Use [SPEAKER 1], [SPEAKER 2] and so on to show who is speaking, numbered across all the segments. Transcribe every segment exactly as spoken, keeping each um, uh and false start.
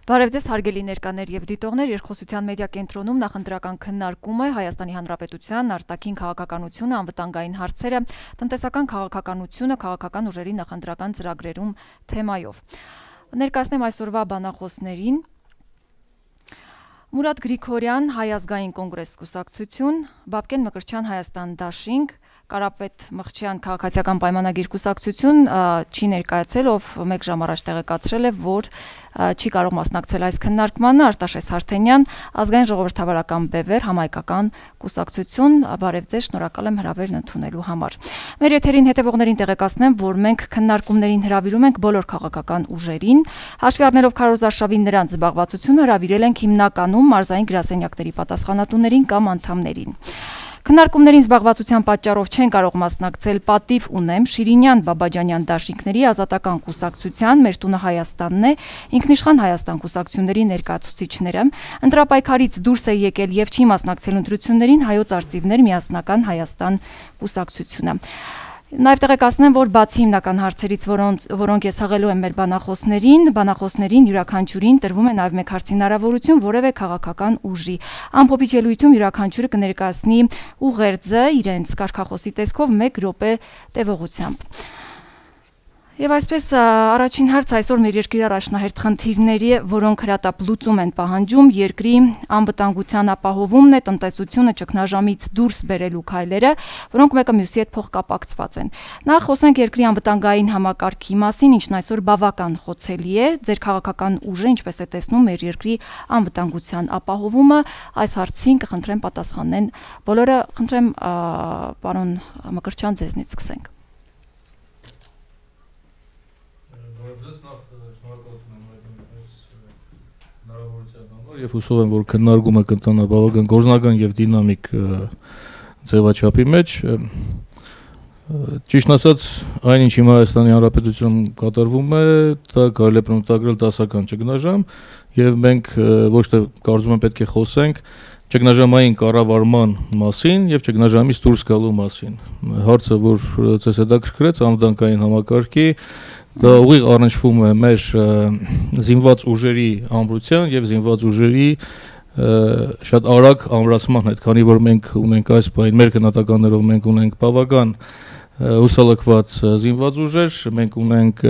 [SPEAKER 1] Բարև ձեզ հարգելի ներկաներ եւ դիտողներ, երկխոսության մեդիա կենտրոնում նախընտրական քննարկում է Հայաստանի Հանրապետության արտաքին քաղաքականությունը, անվտանգային հարցերը, տնտեսական քաղաքականությունը, քաղաքական ուժերի նախընտրական ծրագրերում թեմայով։ Ներկայացնեմ այսօրվա բանախոսներին. Մուրադ Գրիգորյան, Հայ ազգային կոնգրես կուսակցություն, Բաբկեն Մկրտչյան, Հայաստան դաշինք, Կարապետ Մխչյան քաղաքացիական պայմանագիր կուսակցություն չի ներկայացել, ով մեկ ժամ առաջ տեղեկացրել է, որ չի կարող մասնակցել այս քննարկմանը, Արտաշես Հարթենյան, ազգային ժողովրդավարական բևեր, համայնքական կուսակցություն, բարև ձեզ, շնորհակալ եմ հրավերն ընդունելու համար։ Մեր եթերին հետևողներին տեղեկացնեմ, որ մենք քննարկումներին հրավիրում ենք բոլոր քաղաքական ուժերին, հաշվի առնելով քարոզարշավին նրանց զբաղվածությունը հրավիրել ենք հիմնականում մարզային գրասենյակների պատասխանատուներին կամ անդամներին։ Քննարկումներին զբաղվածության պատճառով չեն կարող մասնակցել պատիվ ունեմ Շիրինյան Բաբաջանյան դաշինքների ազատական կուսակցության, մեր տունը Հայաստանն է, ինքնիշխան Հայաստան կուսակցությունների ներկայացուցիչները, ընտրապայքարից դուրս է եկել եւ չի մասնակցել ընտրություններին Հայոց արծիվներ միասնական Հայաստան կուսակցությունը։ Նաև տեղեկացնեմ, որ բացի հիմնական հարցերից, որոնց, որոնք ես հղելու եմ մեր բանախոսներին, բանախոսներին յուրաքանչյուրին տրվում է նաև մեկ հարցի հնարավորություն որևէ քաղաքական ուժի։ Ամփոփիչ ելույթում յուրաքանչյուրը կներկայացնի ուղերձը իրենց կարգախոսի տեսքով մեկ րոպե տևողությամբ։ Եվ այսպես առաջին հարց այսօր մեր երկրի առաջնահերթ խնդիրների, որոնք հրատապ լուծում են պահանջում, երկրի անվտանգության ապահովումն է, տնտեսությունը ճգնաժամից դուրս բերելու քայլերը, որոնք մեկը մյուսի հետ փոխկապակցված են։ Նախ խոսենք երկրի անվտանգային համակարգի մասին, ինչն այսօր բավական խոցելի է, ձեր քաղաքական ուժը ինչպես է տեսնում մեր երկրի անվտանգության ապահովումը, այս հարցին կխնդրեմ պատասխանեն բոլորը, խնդրեմ պարոն Մկրտչյան, ձեզնից սկսենք։
[SPEAKER 2] Եվ հուսով եմ, որ քննարկումը կընթանա բավական գործնական եւ դինամիկ ձևաչափի մեջ։ Ճիշտ ասած, այնինչ հիմա Հայաստանի Հանրապետությունում կատարվում է, դա կարելի է բնութագրել դասական ճգնաժամ, եւ մենք ոչ թե կարծում եմ պետք է խոսենք ճգնաժամային կառավարման մասին եւ ճգնաժամից դուրս գալու մասին։ Հարցը, որ ցես հետաքրքրեց անվտանգային համակարգի, դա ուղիղ առնչվում է մեր զինված ուժերի ամրության եւ զինված ուժերի շատ արագ ամրացման հետ, քանի որ մենք ունենք այս բան, մեր գնահատականներով մենք ունենք բավական հուսալքված զինված ուժեր, մենք ունենք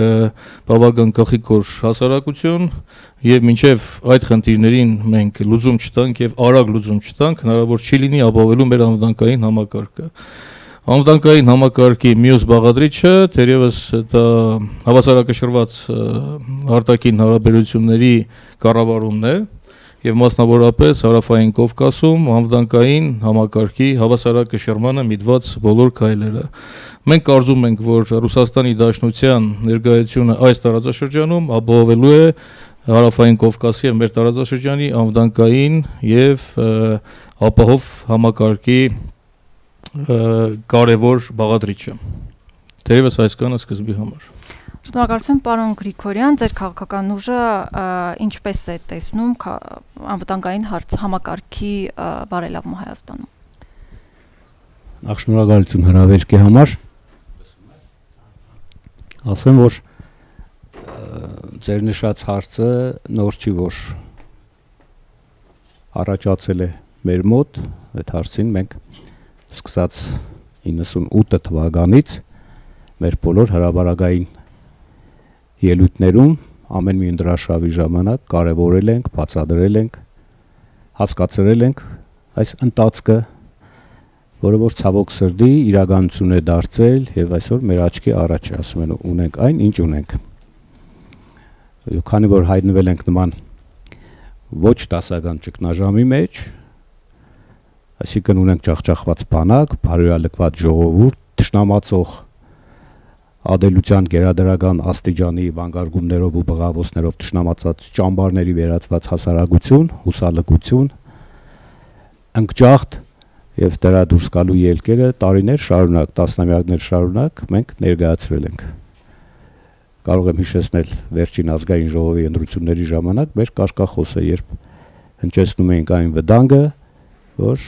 [SPEAKER 2] բավական գլխիկոր հասարակություն եւ մինչեւ այդ խնդիրներին մենք լուծում չտանք եւ արագ լուծում չտանք, հնարավոր չի լինի ապահովելու մեր անվտանգային համակարգը։ Անվտանգային համակարգի մյուս բաղադրիչը թերևս դա հավասարակշռված արտաքին հարաբերությունների կառավարումն է եւ մասնավորապես Հարավային Կովկասում անվտանգային համակարգի հավասարակշռմանը միտված բոլոր քայլերը։ Մենք կարծում ենք, որ Ռուսաստանի Դաշնության ներկայությունը այս տարածաշրջանում ապահովելու է Հարավային Կովկասի եւ մեր տարածաշրջանի անվտանգային եւ ապահով համակարգի կարևոր բաղադրիչը։ Թերևս այսքանը սկզբի համար։
[SPEAKER 1] Շնորհակալություն պարոն Գրիգորյան, ձեր քաղաքական ուժը ինչպես է տեսնում անվտանգային հարց համակարգի բարելավումը Հայաստանում։
[SPEAKER 3] Նախ շնորհակալություն հրավերքի համար։ Ասեմ, որ ձեր նշած հարցը նոր չի, որ առաջացել է մեր մոտ, այդ հարցին մենք սկսած իննսունութ թվականից մեր բոլոր հրաբարակային ելույթներում ամեն մի ընտրաշավի ժամանակ կարևորել ենք, բացատրել ենք, հասկացրել ենք այս ընթացքը, որը որ ցավոք սրտի իրականություն է դարձել եւ այսօր մեր աչքի առաջ է, ասում են ունենք այն, ինչ ունենք։ Քանի որ հայտնվել ենք նման ոչ դասական ճգնաժամի մեջ, այսինքն ունենք ջախջախված բանակ, բարոյալքված ժողովուրդ, թշնամացող ադելության գերադրական աստիճանի վանկարգումներով ու բղավոցներով թշնամացած ճամբարների վերածված հասարակություն, հուսալքություն, ընկճախտ եւ դրա դուրս գալու ելքերը տարիներ շարունակ, տասնամյակներ շարունակ մենք ներկայացրել ենք։ Կարող եմ հիշեցնել վերջին ազգային ժողովի ընտրությունների ժամանակ մեր կարգախոսը, երբ հնչեցնում էինք այն վտանգը, որ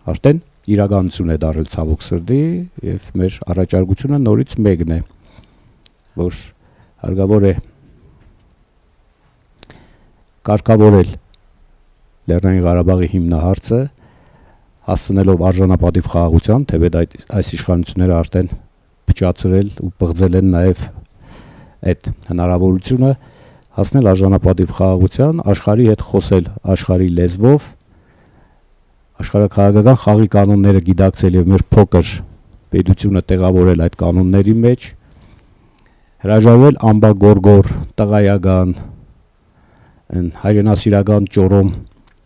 [SPEAKER 3] արդեն իրականություն է դարձել ցավոք սրտի եւ մեր առաջարկությունը նորից մեկն է, որ հարկավոր է կարգավորել Լեռնային Ղարաբաղի հիմնահարցը, հասցնելով արժանապատիվ խաղաղության, թեպետ այդ այս իշխանությունները արդեն փչացրել ու բղձել են նաև այդ հնարավորությունը, հասնել արժանապատիվ խաղաղության, աշխարհի հետ խոսել աշխարհի լեզվով, աշխարհաքաղաքական խաղի կանոնները գիտակցել եւ մեր փոքր պետությունը տեղավորել այդ կանոնների մեջ, հրաժարվել ամբագորգոր, տղայական, հայրենասիրական ճորոմ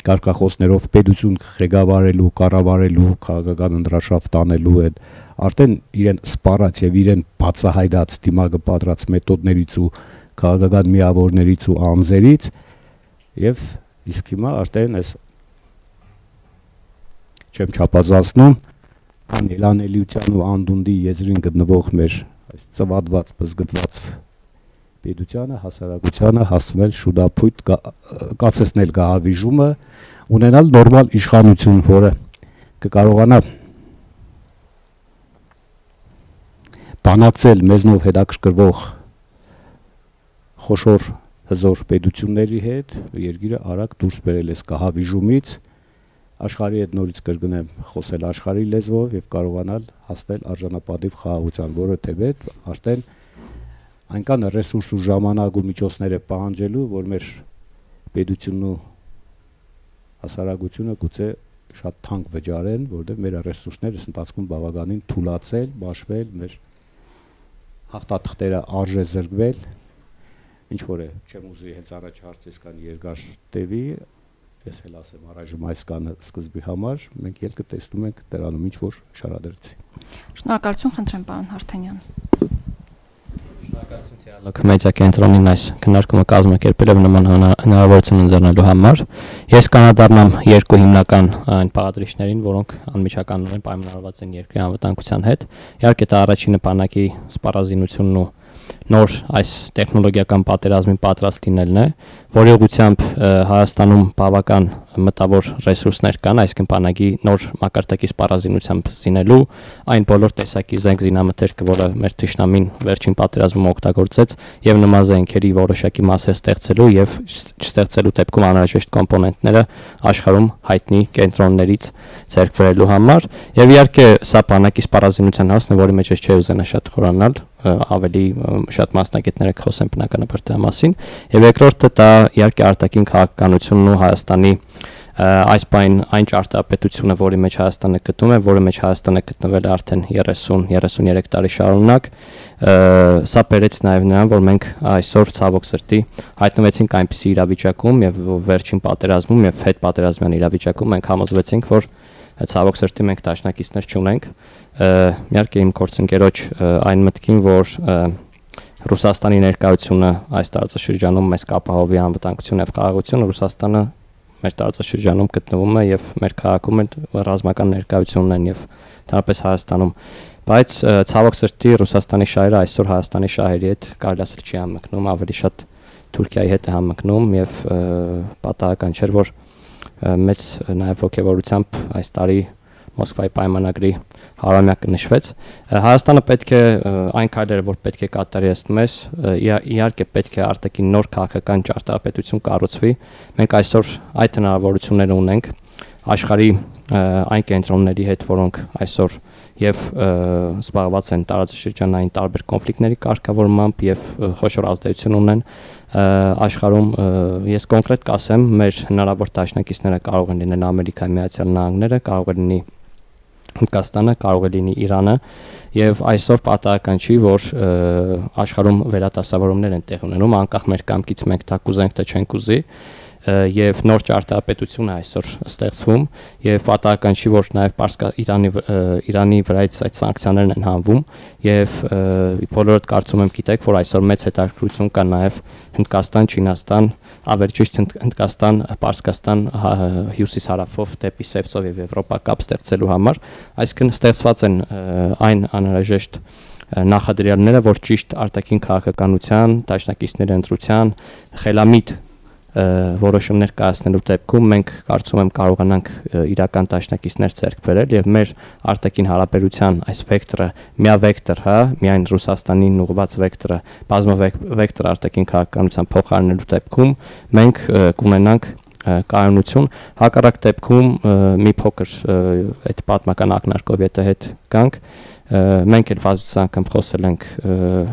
[SPEAKER 3] կարգախոսներով պետություն ղեկավարելու, կառավարելու, քաղաքական ընդրաշաֆտ տանելու հետ արդեն իրեն սպառած եւ իրեն բացահայտած դիմակը պատրած մեթոդներից ու քաղաքական միավորներից ու անձերից եւ իսկ հիմա արդեն այս չեմ չափազանցնում անելանելիության ու անդունդի եզրին գտնվող մեր այս ծվադված, բզգտված պետությանը, հասարակությանը հասցնել շուտապույտ կացեցնել գահավիժումը, ունենալ նորմալ իշխանություն, որը կկարողանա բանակցել մեզնով հետաքրքրվող խոշոր հզոր պետությունների հետ, երկիրը արագ դուրս բերել էս կահավիժումից, աշխարհի հետ նորից կրկնեմ խոսել աշխարհի լեզվով եւ կարողանալ հասնել արժանապատիվ խաղաղության, որը թեպետ արդեն այնքան ռեսուրս ու ժամանակ ու միջոցներ է պահանջելու, որ մեր պետությունն ու հասարակությունը գուցե շատ թանկ վճարեն, որտեղ մեր ռեսուրսները այս ընթացքում բավականին թուլացել, բաշխվել, մեր հաղթաթղթերը արժե զրկվել, ինչ որ է, չեմ ուզի հենց առաջ հարցես կան երկար տևի, ես էլ ասեմ առայժմ այս կանը սկզբի համար, մենք ելքը տեսնում ենք դրանում ինչ որ շարադրեցի։
[SPEAKER 1] Շնորհակալություն խնդրեմ պարոն Հարթանյան։
[SPEAKER 4] Շնորհակալություն Սիալոկ մեդիա-կենտրոնին այս քննարկումը կազմակերպել եւ նման հնարավորություն ընձեռնելու համար։ Ես կանադառնամ երկու հիմնական այն բաղադրիչներին, որոնք անմիջականորեն պայմանավորված են երկրի անվտանգության հետ։ Իհարկե դա առաջինը բանակի սպառազինությունն ու նոր այս տեխնոլոգիական պատերազմին պատրաստ լինելն է, որի ուղղությամբ Հայաստանում բավական մտավոր ռեսուրսներ կան, այսինքն բանակի նոր մակարդակի սպառազինությամբ զինելու այն բոլոր տեսակի զենք զինամթերքը, որը մեր թշնամին վերջին պատերազմում օգտագործեց, եւ նման զենքերի որոշակի մասեր ստեղծելու եւ չստեղծելու դեպքում անհրաժեշտ կոմպոնենտները աշխարհում հայտնի կենտրոններից ձեռք բերելու համար, եւ իհարկե սա բանակի սպառազինության հասն է, որի մեջ ես չի ուզենա շատ խորանալ, ավելի շատ մասնագետները խոսեն բնականաբար դրա մասին, եւ երկրորդը դա իհարկե արտաքին քաղաքականությունն ու Հայաստանի այս բան այն ճարտարապետությունը, որի մեջ Հայաստանը գտնվում է, որի մեջ Հայաստանը գտնվել է արդեն երեսուն երեսուներեք տարի շարունակ, սա բերեց նաև նրան, որ մենք այսօր ցավոք սրտի հայտնվեցինք այնպիսի իրավիճակում եւ վերջին պատերազմում եւ հետ պատերազմյան իրավիճակում մենք համոզվեցինք, որ ցավոք սրտի մենք դաշնակիցներ չունենք, իհարկե իմ գործընկերոջ այն մտքին, որ Ռուսաստանի ներկայությունը այս տարածաշրջանում մեզ կապահովի անվտանգություն եւ խաղաղություն, Ռուսաստանը մեր տարածաշրջանում գտնվում է եւ մեր քաղաքում էլ ռազմական ներկայություն ունեն եւ դրանպես Հայաստանում, բայց ցավոք սրտի Ռուսաստանի շահերը այսօր Հայաստանի շահերի հետ կարելի ասել չի համընկնում, ավելի շատ Թուրքիայի հետ է համընկնում եւ պատահական չէր, որ մեծ նաեւ ողջավորությամբ այս տարի Մոսկվայի պայմանագրի հարամյակը նշվեց։ Հայաստանը պետք է այն քայլերը, որ պետք է կատարի ըստ մեզ, իհարկե պետք է արտաքին նոր քաղաքական ճարտարապետություն կառուցվի։ Մենք այսօր այդ հնարավորությունները ունենք աշխարհի այն կենտրոնների հետ, որոնք այսօր եւ զբաղված են տարածաշրջանային տարբեր կոնֆլիկտների կարգավորմամբ եւ խոշոր ազդեցություն ունեն աշխարհում, ես կոնկրետ կասեմ, մեր հնարավոր դաշնակիցները կարող են լինել Ամերիկայի Միացյալ Նահանգները, կարող է լինի Հնդկաստանը, կարող է լինի Իրանը եւ այսօր պատահական չի, որ աշխարհում վերադասավորումներ են տեղ ունենում, անկախ մեր կամքից մենք դա կուզենք թե չենք ուզի, եւ նոր ճարտարապետություն է այսօր ստեղծվում եւ պատահական չի, որ նաեւ Իրանի Իրանի վրայից այդ սանկցիաներն են հանվում եւ բոլորդ կարծում եմ գիտեք, որ այսօր մեծ հետաքրքրություն կա նաեւ Հնդկաստան, Չինաստան, ավելի ճիշտ Հնդկաստան, Պարսկաստան հյուսիս-հարավով դեպի Սևծով եւ Եվրոպա կապ ստեղծելու համար, այսինքն ստեղծված են այն անհրաժեշտ նախադրյալները, որ ճիշտ արտաքին քաղաքականության, դաշնակիցների ընտրության, խելամիտ որոշումներ կայացնելու դեպքում մենք կարծում եմ կարողանանք իրական դաշնակիցներ ձեռք բերել եւ մեր արտաքին հարաբերության այս վեկտորը միավեկտոր, հա, միայն Ռուսաստանին ուղղված վեկտորը, բազմավեկտոր արտաքին քաղաքականության փոխարինելու դեպքում մենք կունենանք կայունություն, հակառակ դեպքում մի փոքր այդ պատմական ակնարկով եթե հետ գանք, մենք էլ վազից անգամ խոսել ենք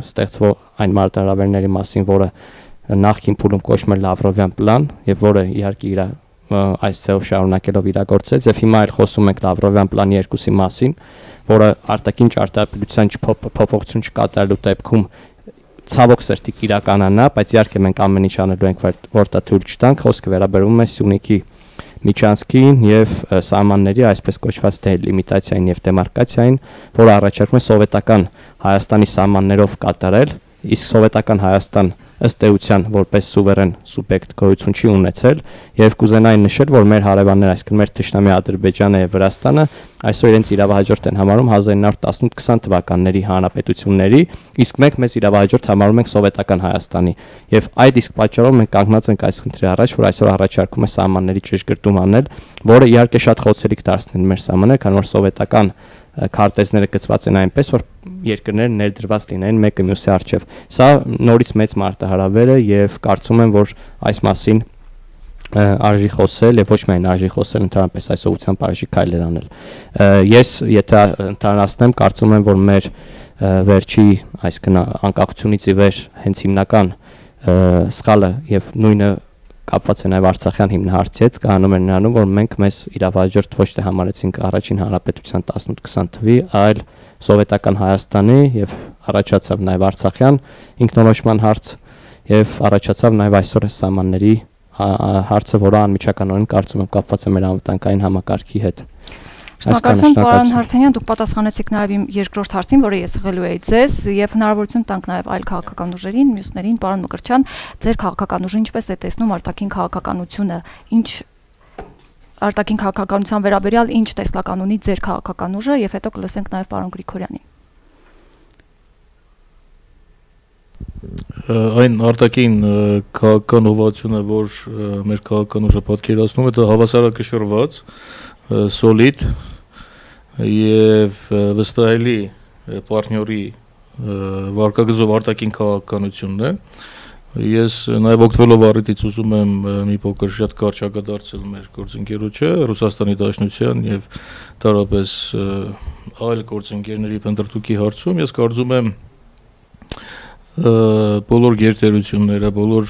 [SPEAKER 4] ստեղծվող այն մարտահրավերների մասին, որը նախքին փուլում կոչվում է Լավրովյան պլան եւ որը իհարկե իր այս ձևով շարունակելով իրագործեց եւ հիմա էլ խոսում ենք Լավրովյան պլանի երկուսի մասին, որը արտաքին ճարտարապետության փոփոխություն չկատարելու դեպքում ցավոք սրտի իրականանա, բայց իհարկե մենք ամեն ինչ անելու ենք, որ դա թույլ չտանք, խոսքը վերաբերում է Սյունիքի միջանցքին եւ սահմանների այսպես կոչված դելիմիտացիային եւ դեմարկացիային, որը առաջարկում է սովետական Հայաստանի սահմաններով կատարել, իսկ սովետական Հայաստան ըստ էության որպես սուվերեն սուբյեկտ գոյություն չի ունեցել եւ կուզենայի նշել, որ մեր հարևաններ, այսինքն մեր թշնամի Ադրբեջանը եւ Վրաստանը այսօր իրենց իրավահաջորդ են համարում հազար ինը հարյուր տասնութ քսան թվականների հանրապետությունների, իսկ մենք մեզ իրավահաջորդ համարում ենք սովետական Հայաստանի եւ այդ իսկ պատճառով մենք կանգնած ենք այս խնդրի առաջ, որ այսօր առաջարկում է սահմանների ճշգրտում անել, որը իհարկե շատ խոցելիք դարձնել մեր սահմանները, քանի որ սովետական քարտեզները գծված են այնպես, որ երկրները ներդրված լինեն մեկը մյուսի առջև։ Սա նորից մեծ մարտահրավեր է եւ կարծում եմ, որ այս մասին արժի խոսել եւ ոչ միայն արժի խոսել, ընդհանրապես այս ուղղությամբ արժի քայլեր անել։ Ես եթե ընդհանրացնեմ, կարծում եմ, որ մեր վերջի այսքան անկախությունից ի վեր հենց հիմնական սխալը եւ նույնը կապված է նաև Արցախյան հիմնահարցի հետ, կանում է նրանում, որ մենք մեզ իրավահաջորդ ոչ թե համարեցինք առաջին հանրապետության տասնութ քսան թվի, այլ սովետական Հայաստանի եւ առաջացավ նաև Արցախյան ինքնորոշման հարց եւ առաջացավ նաև այսօր այս սահմանների հարցը, որը անմիջականորեն կարծում եմ կապված է մեր անվտանգային համակարգի հետ։
[SPEAKER 1] Շնորհակալություն պարոն Հարթանյան, դուք պատասխանեցիք նաև իմ երկրորդ հարցին, որը ես ղղելու էի ձեզ, եւ հնարավորություն տանք նաև այլ քաղաքական ուժերին, մյուսներին, պարոն Մկրտչյան, ձեր քաղաքական ուժը ինչպես է տեսնում արտաքին քաղաքականությունը, ինչ արտաքին քաղաքականության վերաբերյալ ինչ տեսլական ունի ձեր քաղաքական ուժը, եւ հետո կլսենք նաև պարոն Գրիգորյանին։
[SPEAKER 2] Այն արտաքին քաղաքական ուղղությունը, որ մեր քաղաքական ուժը պատկերացնում է, դա հավասարակշռված, սոլիդ եւ վստահելի պարտների վարկագծով արտաքին քաղաքականությունն է։ Ես նաեւ օգտվելով առիթից ուզում եմ մի փոքր շատ կարճ ակադարձել մեր գործընկերոջը Ռուսաստանի Դաշնության եւ դարապես այլ գործընկերների փնտրտուքի հարցում։ Ես կարծում եմ բոլոր գերտերությունները, բոլոր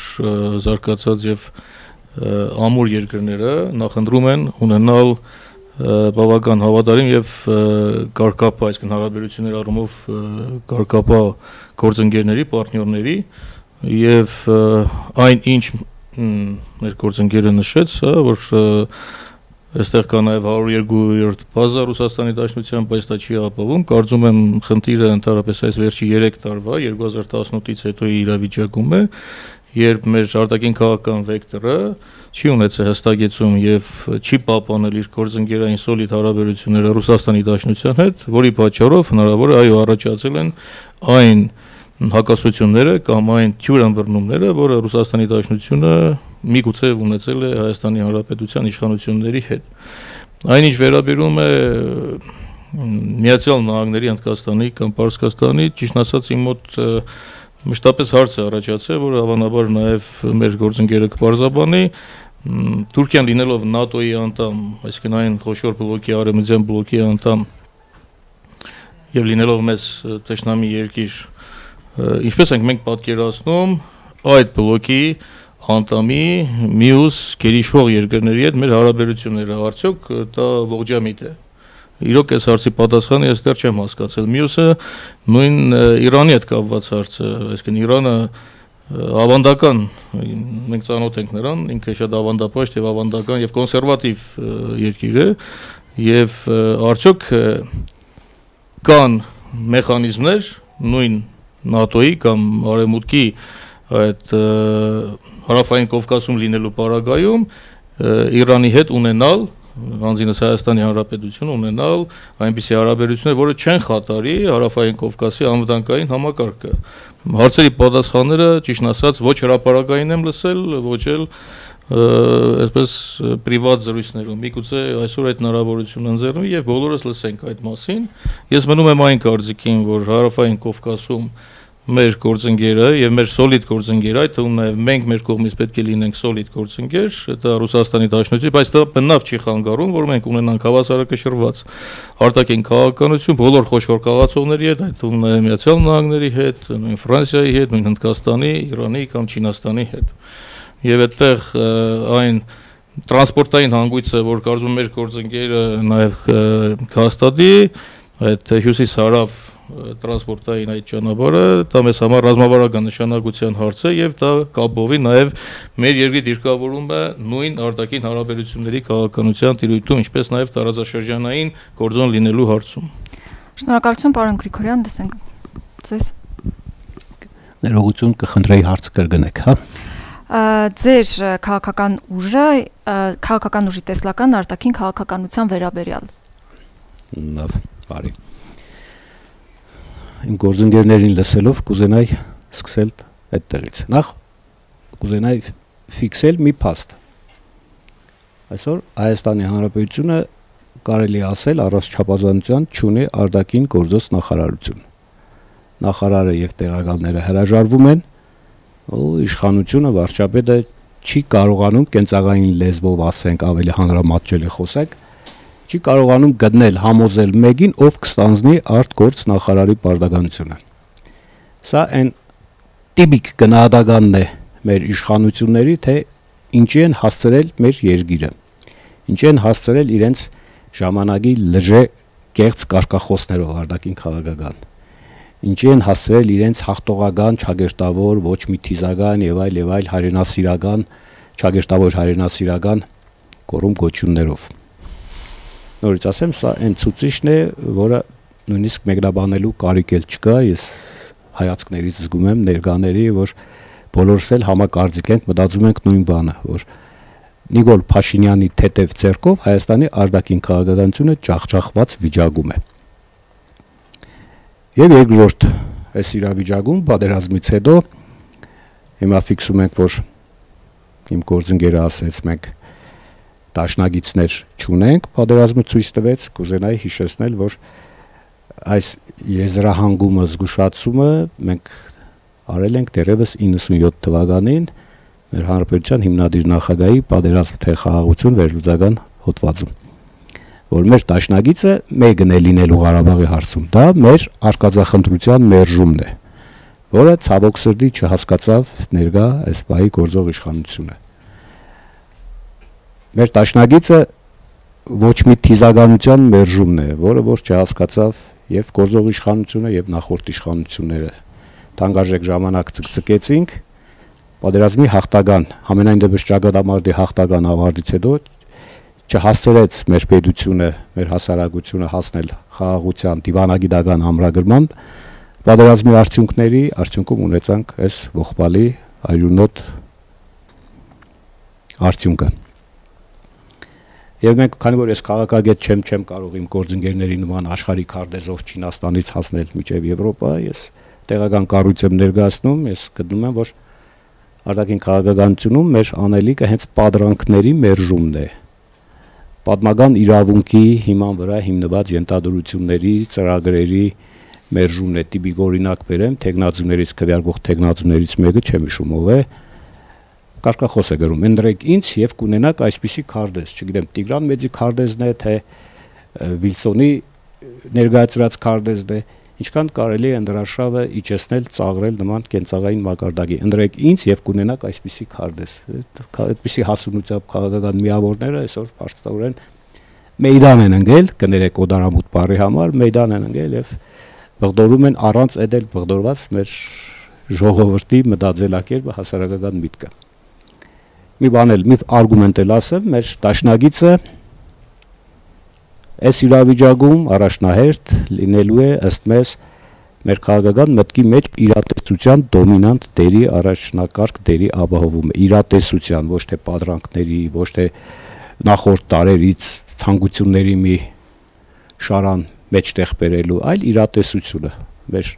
[SPEAKER 2] զարգացած եւ ամուր երկրները նախընտրում են ունենալ բավական հավատարիմ եւ կարգապահ, այսինքն հարաբերությունների առումով կարգապահ գործընկերների, պարտներների եւ այն ինչ մեր գործընկերը նշեց, որ այստեղ կա նաեւ հարյուր երկու բազա Ռուսաստանի Դաշնության, բայց դա չի ապահովում։ Կարծում եմ խնդիրը ընդհանրապես այս վերջի երեք տարվա երկու հազար տասնութից հետո իրավիճակում է, երբ մեր արտաքին քաղաքական վեկտորը չի ունեցել հստակեցում եւ չի պահպանել իր գործընկերային սոլիդ հարաբերությունները Ռուսաստանի Դաշնության հետ, որի պատճառով հնարավոր է այո առաջացել են այն հակասությունները կամ այն թյուրանբռնումները, որը Ռուսաստանի Դաշնությունը միգուցե ունեցել է Հայաստանի Հանրապետության իշխանությունների հետ։ Այնինչ վերաբերում է Միացյալ Նահանգների, Հնդկաստանի կամ Պարսկաստանի, ճիշտ ասած իմ մոտ մշտապես հարց է առաջացել, որ հավանաբար նաև մեր գործընկերը կբարձաբանի, Թուրքիան լինելով ՆԱՏՕ-ի անդամ, այսինքն այն խոշոր բլոկի, արևմտյան բլոկի անդամ եւ լինելով մեզ թշնամի երկիր, ինչպես ենք մենք պատկերացնում այդ բլոկի անդամի մյուս գերիշխող երկրների հետ մեր հարաբերությունները, արդյոք դա ողջամիտ է։ Իրոք այս հարցի պատասխանը ես դեռ չեմ հասկացել։ Մյուսը նույն Իրանի հետ կապված հարցը, այսինքն Իրանը ավանդական, մենք ծանոթ ենք նրան, ինքը շատ ավանդապաշտ եւ ավանդական եւ կոնսերվատիվ երկիր է եւ արդյոք կան մեխանիզմներ նույն ՆԱՏՕ-ի կամ Արևմուտքի այդ հարավային Կովկասում լինելու պարագայում Իրանի հետ ունենալ անձինս Հայաստանի Հանրապետություն ունենալ այնպիսի հարաբերություններ, որը չեն խաթարի Հարավային Կովկասի անվտանգային համակարգը։ Հարցերի պատասխանները, ճիշտն ասած, ոչ հրապարակային եմ լսել, ոչ էլ այսպես պրիվատ զրույցներում։ Միգուցե այսօր այդ հնարավորությունը ընձեռնվի եւ բոլորս լսենք այդ մասին։ Ես մնում եմ այն կարծիքին, որ Հարավային Կովկասում մեր գործընկերը եւ մեր սոլիդ գործընկերը, այդ թվում նաեւ մենք մեր կողմից պետք է լինենք սոլիդ գործընկեր, դա Ռուսաստանի Դաշնություն, բայց դա բնավ չի խանգարում, որ մենք ունենանք հավասարակշռված արտաքին քաղաքականություն բոլոր խոշոր քաղաքացիների հետ, այդ թվում նաեւ Միացյալ Նահանգների հետ, նույն Ֆրանսիայի հետ, նույն Հնդկաստանի, Իրանի կամ Չինաստանի հետ։ Եվ այդտեղ այն տրանսպորտային հանգույցը, որ կարծում մեր գործընկերը նաեւ կհաստատի, այդ հյուսիս-հարավ տրանսպորտային այդ ճանապարհը, դա մեզ համար ռազմավարական նշանակության հարց է եւ դա կապովի նաեւ մեր երկրի դիրքավորում է նույն արտաքին հարաբերությունների քաղաքականության տիրույթում, ինչպես նաեւ տարածաշրջանային գործոն լինելու հարցում։
[SPEAKER 1] Շնորհակալություն, պարոն Գրիգորյան, դեսենք ձեզ։
[SPEAKER 3] Ներողություն կխնդրեի հարցը կրկնեք, հա։
[SPEAKER 1] Ձեր քաղաքական ուժը, քաղաքական ուժի տեսլական արտաքին քաղաքականության վերաբերյալ։
[SPEAKER 3] Լավ, բարի։ Իմ գործընկերներին լսելով կուզենայի սկսել այդտեղից։ Նախ կուզենայի ֆիքսել մի փաստ։ Այսօր Հայաստանի Հանրապետությունը կարելի ասել առանց չափազանցության չունի արտաքին գործոս նախարարություն։ Նախարարը եւ տեղականները հրաժարվում են, ու իշխանությունը վարչապետը չի կարողանում կենցաղային լեզվով ասենք ավելի հանրամատչելի խոսեք, չի կարողանում գտնել համոզել մեկին, ով կստանձնի արտգործ նախարարի պարտականությունը։ Սա այն տիպիկ գնահատականն է մեր իշխանությունների, թե ինչի են հասցրել մեր երկիրը, ինչի են հասցրել իրենց ժամանակի լժե կեղծ կարկախոսներով արտաքին քաղաքական, ինչի են հասցրել իրենց հաղթողական, չագերտավոր, ոչ մի թիզական եւ այլ եւ այլ հայրենասիրական, չագերտավոր հայրենասիրական կորում գոչյուններով։ Նորից ասեմ, սա այն ցուցիչն է, որը նույնիսկ մեկնաբանելու կարիք էլ չկա, ես հայացքներից զգում եմ ներկաների, որ բոլորս էլ համակարծիք ենք, մտածում ենք նույն բանը, որ Նիկոլ Փաշինյանի թեթև ձեռքով Հայաստանի արտաքին քաղաքականությունը ջախջախված վիճակում է։ Եվ երկրորդ այս իրավիճակում պատերազմից հետո հիմա ֆիքսում ենք, որ իմ գործընկերը ասեց, մենք դաշնագիցներ չունենք, պատերազմը ցույց տվեց, կուզենայի հիշեցնել, որ այս եզրահանգումը, զգուշացումը մենք արել ենք դեռևս իննսունյոթ թվականին մեր հանրապետության հիմնադիր նախագահի պատերազմ թե խաղաղություն վերլուծական հոդվածում, որ մեր դաշնագիծը մեկն է լինելու Ղարաբաղի հարցում, դա մեր արկածախնդրության մերժումն է, որը ցավոք սրտի չհասկացավ ներկա այս պահի գործող իշխանությունը։ Մեր դաշնագիծը ոչ մի թիզականության մերժումն է, որը որ չհասկացավ եւ գործող իշխանությունը եւ նախորդ իշխանությունները։ Թանկարժեք ժամանակ ցկցկեցինք, պատերազմի հաղթական, համենայն դեպս ճակատամարտի հաղթական ավարտից հետո չհասցրեց մեր պետությունը, մեր հասարակությունը հասնել խաղաղության դիվանագիտական ամրագրման, պատերազմի արդյունքների արդյունքում ունեցանք այս ողբալի այրունոտ արդյունքը։ Եվ մենք, քանի որ ես քաղաքագետ չեմ, չեմ կարող իմ գործընկերների նման աշխարհի քարտեզով Չինաստանից հասնել մինչև Եվրոպա, ես տեղական կառույց եմ ներկայացնում, ես գտնում եմ, որ արտաքին քաղաքականությունում մեր անելիքը հենց պատրանքների մերժումն է։ Պատմական իրավունքի հիման վրա հիմնված ենթադրությունների, ծրագրերի մերժումն է, տիպիկ օրինակ բերեմ, թեկնածուներից քվեարկող թեկնածուներից մեկը չեմ հիշում ով է, կարկախոս է գրում, ընտրեք ինձ եւ կունենաք այսպիսի քարտեզ, չգիտեմ, Տիգրան Մեծի քարտեզն է, թե Վիլսոնի ներկայացրած քարտեզն է, ինչքան կարելի է ընդրաշավը իջեցնել, ծաղրել նման կենցաղային մակարդակի, ընտրեք ինձ եւ կունենաք այսպիսի քարտեզ։ Այդպիսի հասունությամբ քաղաքական միավորները այսօր բարձրորեն մեյդան են ընկել, կներեք օդարամուտ բառի համար, մեյդան են ընկել եւ բղդորում են առանց այդել բղդորված մեր ժողովրդի մտածելակերպը, հասարակական միտքը։ Մի բան էլ, մի արգումենտ էլ ասեմ, մեր դաշնագիծը այս իրավիճակում առաջնահերթ լինելու է ըստ մեզ մեր քաղաքական մտքի մեջ իրատեսության դոմինանտ դերի առաջնակարգ դերի ապահովումը, իրատեսության, ոչ թե պատրանքների, ոչ թե նախորդ տարերից ցանկությունների մի շարան մեջտեղ բերելու, այլ իրատեսությունը մեր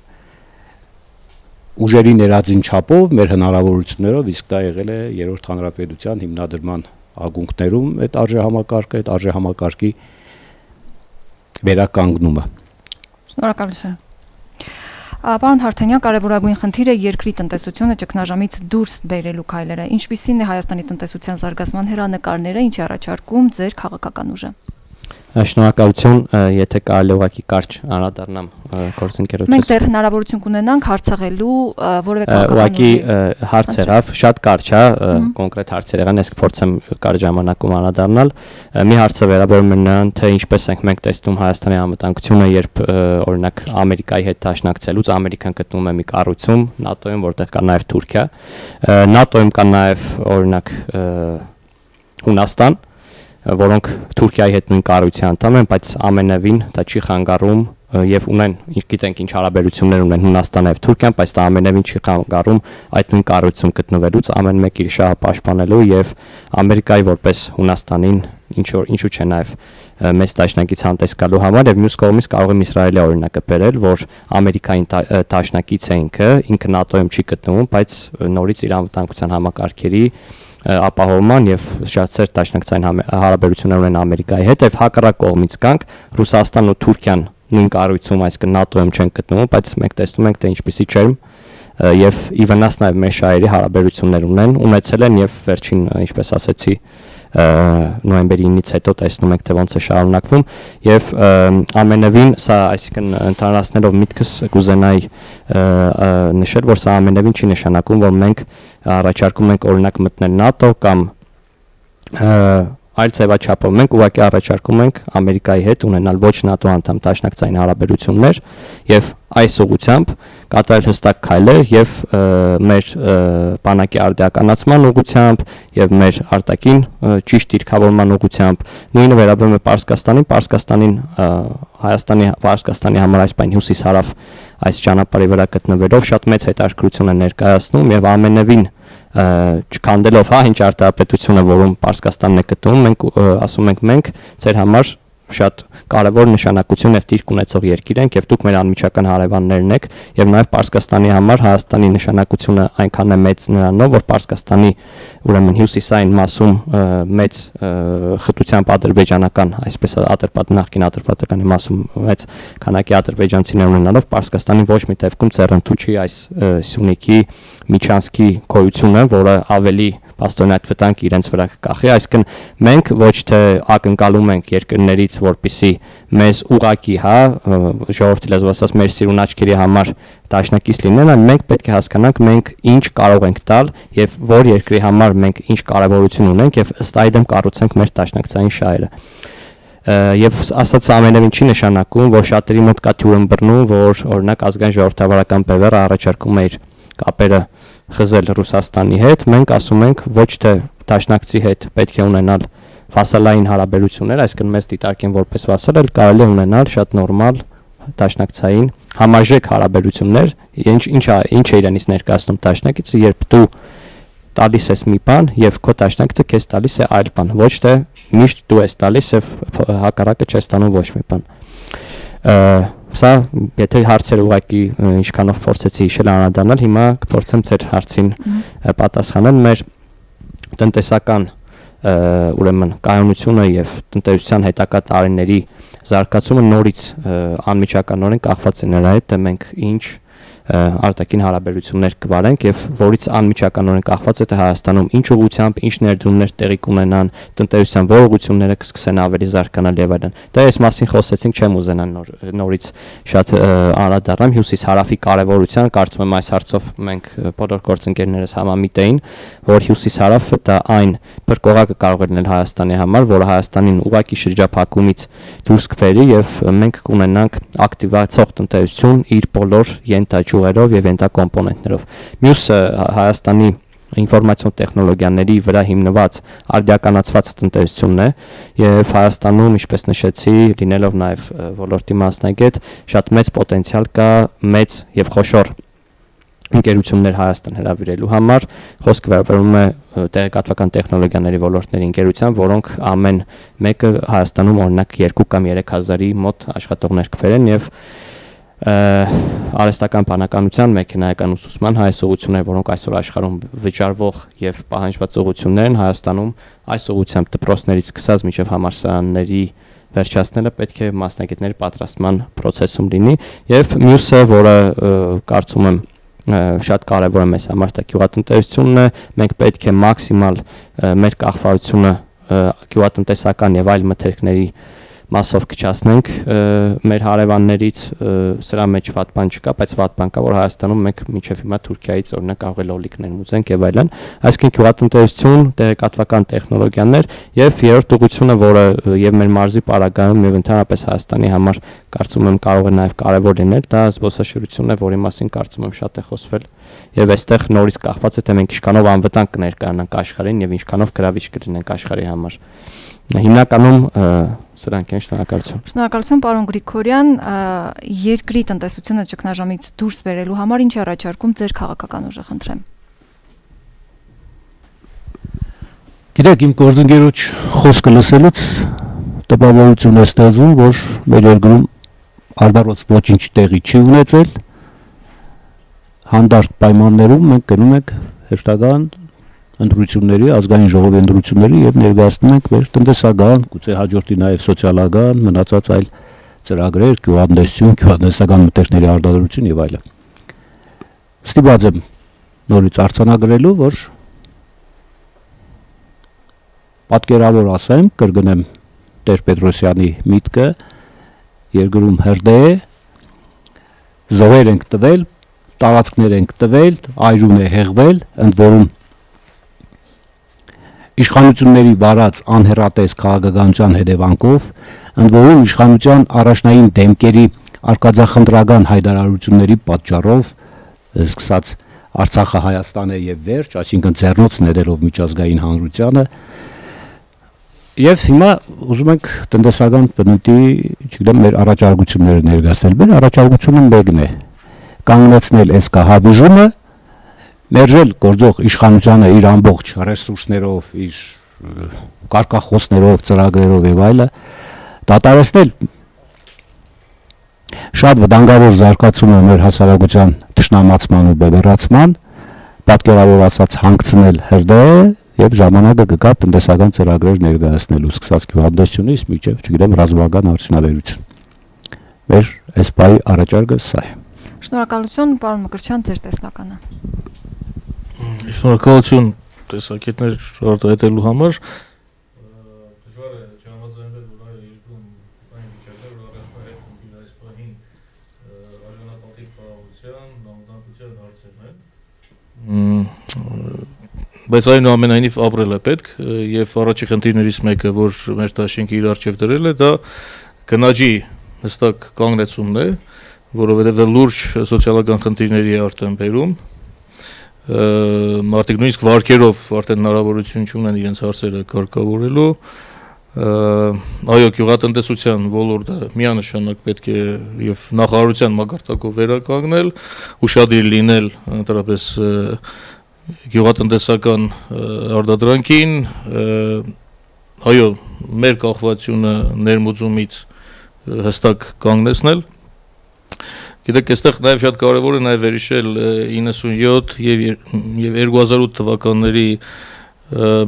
[SPEAKER 3] ուժերի ներածին չափով, մեր հնարավորություններով, իսկ դա եղել է երրորդ հանրապետության հիմնադրման ակունքներում այդ արժեհամակարգը, այդ արժեհամակարգի վերականգնումը։
[SPEAKER 1] Շնորհակալություն։ Պարոն Հարթանյան, կարևորագույն խնդիրը երկրի տնտեսությունը ճգնաժամից դուրս բերելու քայլերը։ Ինչպիսին է Հայաստանի տնտեսության զարգացման հեռանկարները, ինչ է առաջարկում ձեր քաղաքական ուժը։
[SPEAKER 4] Շնորհակալություն, եթե կարելի ուղղակի կարճ անդրադառնամ գործընկերոջս։
[SPEAKER 1] Մենք դեռ հնարավորություն կունենանք հարցեղելու որևէ քաղաքական
[SPEAKER 4] ուղղակի հարց եղավ, շատ կարճ է, կոնկրետ հարցեր եղան, ես կփորձեմ կարճ ժամանակում անդրադառնալ։ Մի հարցը վերաբերում է նրան, թե ինչպես ենք մենք տեսնում Հայաստանի անվտանգությունը, երբ օրինակ Ամերիկայի հետ դաշնակցելուց Ամերիկան գտնում է մի կառույցում ՆԱՏՕ-ում, որտեղ կա նաև Թուրքիա, ՆԱՏՕ-ում կա նաև օրինակ Հունաստան, որոնք Թուրքիայի հետ նույն կառույցի անդամ են, բայց ամենևին դա չի խանգարում եւ ունեն, գիտենք ինչ հարաբերություններ ունեն Հունաստանը եւ Թուրքիան, բայց դա ամենևին չի խանգարում այդ նույն կառույցում գտնվելուց ամեն մեկ իր շահը պաշտպանելու եւ Ամերիկայի որպես Հունաստանին ինչ որ ինչու՞ չէ նաեւ մեծ դաշնակից հանդես գալու համար եւ մյուս կողմից կարող եմ Իսրայելի օրինակը բերել, որ Ամերիկային դաշնակից է ինքը, ինքը ՆԱՏՕ-ում չի գտնվում, բայց նորից իր անվտանգության համակարգերի ապահովման եւ շատ ծեր դաշնակցային հարաբերություններ ունեն Ամերիկայի հետ եւ հակառակ կողմից կանք Ռուսաստանն ու Թուրքիան նույն կառույցում, այսինքն ՆԱՏՕ-ում չեն գտնվում, բայց մենք տեսնում ենք թե ինչպիսի չերմ եւ ի վնաս նաեւ մեր շահերի հարաբերություններ ունեն, ունեցել են եւ վերջին, ինչպես ասեցի, նոյեմբերի ինից հետո տեսնում ենք թե ոնց է շարունակվում եւ ամենևին սա, այսինքն ընդհանրացնելով միտքս կուզենայի նշել, որ սա ամենևին չի նշանակում, որ մենք առաջարկում ենք օրինակ մտնել ՆԱՏՕ կամ այլ ձևաչափով, մենք ուղղակի առաջարկում ենք Ամերիկայի հետ ունենալ ոչ ՆԱՏՕ անդամ դաշնակցային հարաբերություններ եւ այս ուղղությամբ կատարել հստակ քայլեր եւ մեր բանակի արդիականացման ուղղությամբ եւ մեր արտաքին ճիշտ դիրքավորման ուղղությամբ նույնը վերաբերում է Պարսկաստանին, Պարսկաստանին Հայաստանի Պարսկաստանի համար այս բան հյուսիս-հարավ այս ճանապարհի վրա գտնվելով շատ մեծ հետաքրքրություն է ներկայացնում եւ ամենևին չքանդելով հա ինչ արտահայտությունը, որում Պարսկաստանն է գտնվում, մենք ասում ենք մենք ձեր համար շատ կարևոր նշանակություն եւ դիրք ունեցող երկիր ենք եւ դուք մեր անմիջական հարևաններն եք եւ նաեւ Պարսկաստանի համար Հայաստանի նշանակությունը այնքան է մեծ նրանով, որ Պարսկաստանի ուրեմն հյուսիսային մասում մեծ խտությամբ ադրբեջանական, այսպես Ատրպատ նախկին Ատրպատականի մասում մեծ քանակի ադրբեջանցիներ ունենալով Պարսկաստանի ոչ մի դեպքում ձեռնտու չի այս Սյունիքի Միչանսկի գոյությունը, որը ավելի պաստորնատ վտանգ իրենց վրա կկախի, այսինքն մենք ոչ թե ակնկալում ենք երկրներից, որպիսի մեզ ուղակի, հա, ժողովրդի լեզվով ասած մեր սիրուն աչքերի համար դաշնակից լինեն, այլ մենք պետք է հասկանանք մենք ինչ կարող ենք տալ եւ որ երկրի համար մենք ինչ կարեւորություն ունենք եւ ըստ այդմ կառուցենք մեր դաշնակցային շահերը։ Եվ ասած ամենևին չի նշանակում, որ շատերի մոտ կա թյուրն բռնում, որ օրինակ ազգային ժողովրդավարական բևեռը առաջարկում է իր կապերը խզել Ռուսաստանի հետ, մենք ասում ենք ոչ թե դաշնակցի հետ պետք է ունենալ վասալային հարաբերություններ, այսինքն մեզ դիտարկեն որպես վասալ, այլ կարելի է ունենալ շատ նորմալ դաշնակցային համաժեք հարաբերություններ, ինչ ինչ ինչ է իրենից ներկայացնում դաշնակիցը, երբ դու տալիս ես մի բան եւ քո դաշնակիցը քեզ տալիս է այլ բան, ոչ թե միշտ դու ես տալիս եւ հակառակը չես տանում ոչ մի բան։ Սա եթե հարցեր ուղղակի ինչքանով փորձեցի հիշել անդրադառնալ, հիմա կփորձեմ ձեր հարցին պատասխանել։ Մեր տնտեսական ուրեմն կայունությունը եւ տնտեսության հետագա տարիների զարգացումը նորից անմիջականորեն կախված է նրա հետ, թե մենք ինչ արտաքին հարաբերություններ կվարենք եւ որից անմիջականորեն կախված է թե Հայաստանում ինչ ուղղությամբ, ինչ ներդրումներ տեղի կունենան, տնտեսության որ ուղղությունները կսկսեն ավելի զարգանալ եւ այլն։ Դա այս մասին խոսեցինք, չեմ ուզենա նոր, նորից շատ անդրադառնամ հյուսիս-հարավի կարեւորության, կարծում եմ այս հարցով մենք բոլոր գործընկերներս համամիտ էին, որ հյուսիս-հարավը դա այն փրկողակը կարող է լինել Հայաստանի համար, որը Հայաստանին ուղղակի շրջափակումից դուրս կբերի եւ մենք կունենանք ակտիվացող տնտեսություն իր բոլոր յենթաճյուղերով եւ յենթակոմպոնենտներով։ Մյուսը Հայաստանի ինֆորմացիոն տեխնոլոգիաների վրա հիմնված արդիականացված տնտեսությունն է եւ Հայաստանում, ինչպես նշեցի, լինելով նաեւ ոլորտի մասնագետ, շատ մեծ պոտենցիալ կա մեծ եւ խոշոր ընկերություններ Հայաստան հրավիրելու համար, խոսքը վերաբերում է տեղեկատվական տեխնոլոգիաների ոլորտների ընկերության, որոնք ամեն մեկը Հայաստանում օրինակ երկու կամ երեք հազարի մոտ աշխատողներ կվերեն եւ արհեստական բանականության, մեքենայական ուսուցման այս ուղղությունները, որոնք այսօր աշխարհում վճարվող եւ պահանջված ուղղություններ են, Հայաստանում այս ուղղությամբ դպրոցներից սկսած մինչեւ համալսարանների վերջացնելը պետք է մասնագետների պատրաստման process-ում լինի եւ մյուսը, որը կարծում եմ շատ կարևոր է մեզ համար, դա գյուղատնտեսությունն է, մենք պետք է մաքսիմալ մեր կախվածությունը գյուղատնտեսական եւ այլ մթերքների մասով կչացնենք մեր հարևաններից, սրա մեջ վատ բան չկա, բայց վատ բան կա, որ Հայաստանում մենք մինչև հիմա Թուրքիայից օրինակ կարող է լոլիկներ մուծենք եւ այլն, այսինքն գյուղատնտեսություն, տեղեկատվական տեխնոլոգիաներ եւ երրորդ ուղղությունը, որը եւ մեր մարզի պարագայում եւ ընդհանրապես Հայաստանի համար կարծում եմ կարող է նաեւ կարեւոր լինել, դա զբոսաշրջությունն է, որի մասին կարծում եմ շատ է խոսվել եւ այստեղ նորից կախված է թե մենք ինչքանով անվտանգ կներկայանանք աշխարհին եւ ինչքանով գրավիչ կլինենք աշխարհի համար։ Հիմնականում սրանք են, շնորհակալություն։
[SPEAKER 1] Շնորհակալություն, պարոն Գրիգորյան, երկրի տնտեսությունը ճգնաժամից դուրս բերելու համար ինչ առաջարկում ձեր քաղաքական ուժը, խնդրեմ։
[SPEAKER 3] Գիտեք, իմ գործընկերոջ խոսքը լսելուց տպավորություն է ստեղծվում, որ մեր երկրում արդարոց ոչինչ տեղի չի ունեցել, հանդարտ պայմաններում մենք գնում ենք հեշտական ընտրությունների, ազգային ժողովի ընտրությունների եւ ներկայացնում ենք մեր տնտեսական, գուցե հաջորդի նաեւ սոցիալական, մնացած այլ ծրագրեր, գյուղատնտեսություն, գյուղատնտեսական մթերքների արտադրություն եւ այլն։ Ստիպված եմ նորից արձանագրելու, որ պատկերավոր ասեմ, կրկնեմ Տեր Պետրոսյանի միտքը, երկրում հրդե է, զոհեր ենք տվել, տարածքներ ենք տվել, այրուն է հեղվել, ընդ որում իշխանությունների վարած անհեռատես քաղաքականության հետևանքով, ընդ որում իշխանության առաջնային դեմքերի արկածախնդրական հայտարարությունների պատճառով, սկսած Արցախը Հայաստան է եւ վերջ, այսինքն ձեռնոց ներելով միջազգային հանրությանը, եւ հիմա ուզում ենք տնտեսական բնույթի, չգիտեմ, մեր առաջարկությունները ներկայացնել։ Մեր առաջարկությունը մեկն է՝ կանգնեցնել այս կահավիժումը, մերժել գործող իշխանությանը իր ամբողջ ռեսուրսներով, իր կարգախոսներով, ծրագրերով եւ այլը, դադարեցնել շատ վտանգավոր զարգացումը մեր հասարակության թշնամացման ու բևեռացման, պատկերավոր ասած հանգցնել հրդե եւ ժամանակը կգա տնտեսական ծրագրեր ներկայացնելու, սկսած գյուղատնտեսությունից մինչեւ, չգիտեմ, ռազմական արդյունաբերություն։ Մեր այս բայի առաջարկը սա է։
[SPEAKER 1] Շնորհակալություն, պարոն Մկրտչյան, ձեր տեսլականը։
[SPEAKER 2] Շնորհակալություն տեսակետներ արտահայտելու համար։ Դժվար է չհամաձայնվել, որ այո երկրում այն վիճակներ, որ առանձնահատկորեն այս պահին արժանապատիվ խաղաղության, անվտանգության հարցերն են։ Բայց այնուամենայնիվ ապրել է պետք եւ առաջի խնդիրներից մեկը, որ մեր դաշինքը իր առջեւ դրել է, դա գնաճի հստակ կանգնեցումն է, որովհետեւ դա լուրջ սոցիալական խնդիրների է արդեն բերում։ Մարդիկ նույնիսկ վարկերով արդեն հնարավորություն չունեն իրենց հարցերը կարգավորելու, այո, գյուղատնտեսության ոլորտը միանշանակ պետք է եւ նախարարության մակարդակով վերականգնել, ուշադիր լինել ընդհանրապես գյուղատնտեսական արտադրանքին, այո, մեր կախվածությունը ներմուծումից հստակ կանգնեցնել։ Գիտեք, այստեղ նաև շատ կարևոր է նաև վերհիշել իննսունյոթ եւ երկու հազար ութ թվականների